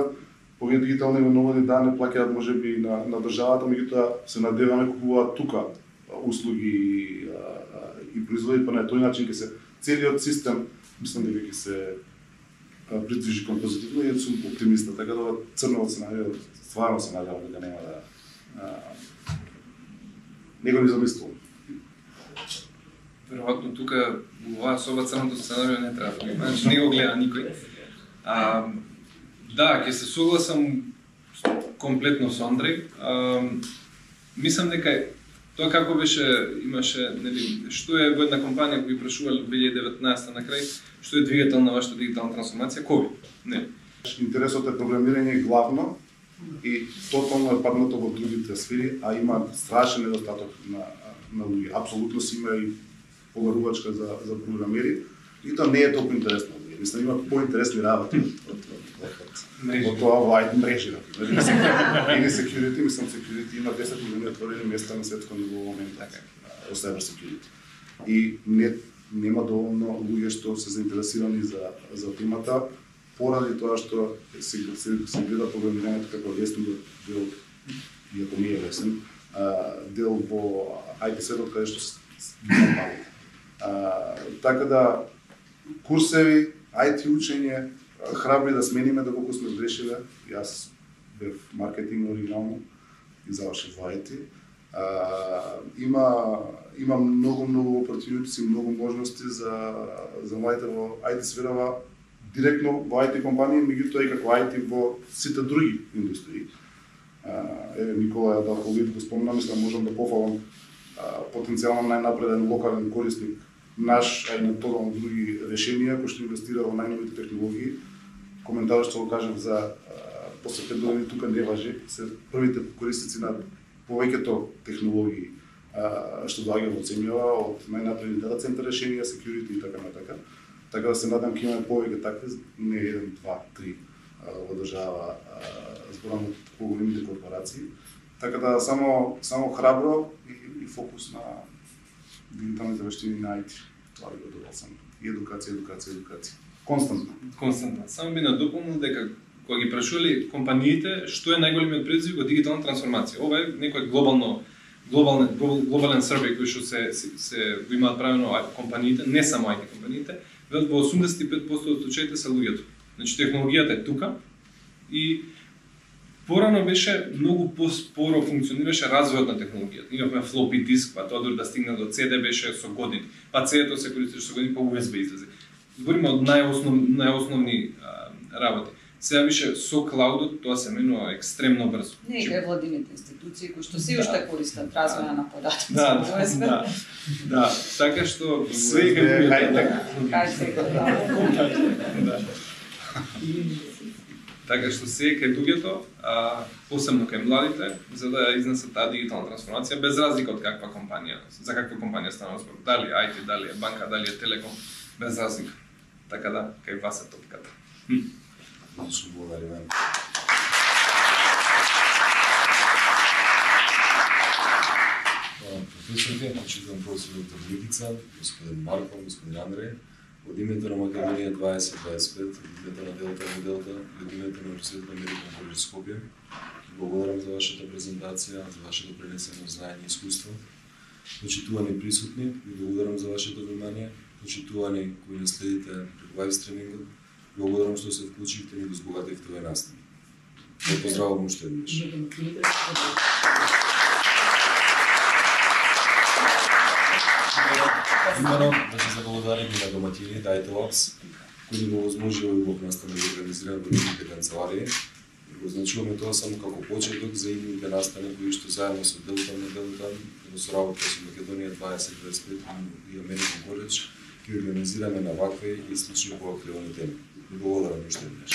повеќе дигитални именувања да не плаќаат можеби на државата, меѓутоа се надеваме купуваат тука услуги и производи, па на тој начин ќе се целиот систем, мислам дека ќе се придвижи кон позитивно и сум оптимиста, така да црно сценарио стварно се надевам дека нема да не го замислувам. Веројатно тука во оваа соба црното сценарио не треба да има, значи не го гледа никој. Да, ќе се согласам комплетно со Андреј. Мислам дека тоа како беше, имаше, нели, што е во една компанија која прашувале 2019 на крај, што е двигател на вашата дигитална трансформација? COVID, нели? Интересот е програмирање главно и тотално е паднато во другите сфери, а има страшен недостаток на луѓе. Апсолутно си има и поверувачка за програмери и тоа не е толку интересно. Мислам, има поинтересни работи од тоа во IT мрежи, например. Или security, мислам, security има 10 милиони отворени места на светско ниво во моментот во cyber security. И нема доволно луѓе што се заинтересирани за темата, поради тоа што се гледа програмирањето како лесен дел, иако не е лесен, дел во IT светот каде што има палите. Така да, курсеви, IT учење, храбри да смениме доколку сме грешиле. Јас бев маркетинг оригинално и завршив во IT. Има многу opportunities и многу можности за младите во IT сферава, директно во IT компании, меѓутоа и како IT во сите други индустрии. Никола Јадалковиќ го спомна, мислам можам да пофалам потенцијално најнапреден локален корисник наш, а и на тотално други решенија кои што инвестира во најновите технологии. Коментарот што го кажав за после 5 години тука не важи, се првите корисници на повеќето технологии што доаѓа во земјава, од најнапредни дата центар решенија, security и така натака. Така да се надам ќе имаме повеќе такви, не 1, 2, 3 во држава, зборам од поголемите корпорации. Така да само храбро и фокус на дигиталните вештини на IT. Това би го добал само. И едукација. Константно. Само би надополнил дека кога ги прашували компаниите што е најголемиот предизвик во дигитална трансформација. Ова е некој глобален survey кој што се го имаат правено компаниите, не само IT компаниите, во 85% од случаите се луѓето. Значи технологијата е тука и порано беше многу поспоро функционираше развојот на технологијата. Имавме floppy диск, па тоа дори да стигне до CD беше со години. Па CD-то се користеше со години, па USB излезе. Збориме од најосновни работи. Сега више со клаудот тоа се менува екстремно брзо. Не игра владините институции кои што се уште користат развоја на податоци. Да, така што се игра Така што се кај луѓето, посебно кај младите, за да изнесат таа дигитална трансформација, без разлика од каква компанија, за каква компанија станува збор, дали IT, дали е банка, дали е телеком, без разлика. Така да, кај вас е топката. Одлично, благодариме. Професорите, почитувам професор доктор Митица, господин Марко, господин Андреј, од името на Македонија 2025, од името на Делта, од името на Университетот Американ колеж Скопје, благодарам за вашата презентација, за вашето пренесено знаење и искуство. Почитувани присутни, ви благодарам за вашето внимание. Почитувани кои не следите преку лайв стримингот, благодарам што се вклучивте и го збогативте овој настан. Ве поздравувам уште еднаш. Имено да се заблагодарим и на доматини Data Labs, кои ни го возможува и го настан да го организираме во нивните канцеларии. Го значуваме тоа само како почеток за идните настани кои што заедно со Делта, во соработка со Македонија 2025 и Американ колеж ќе организираме на вакви и слични поакривани теми. Благодарам уште еднаш.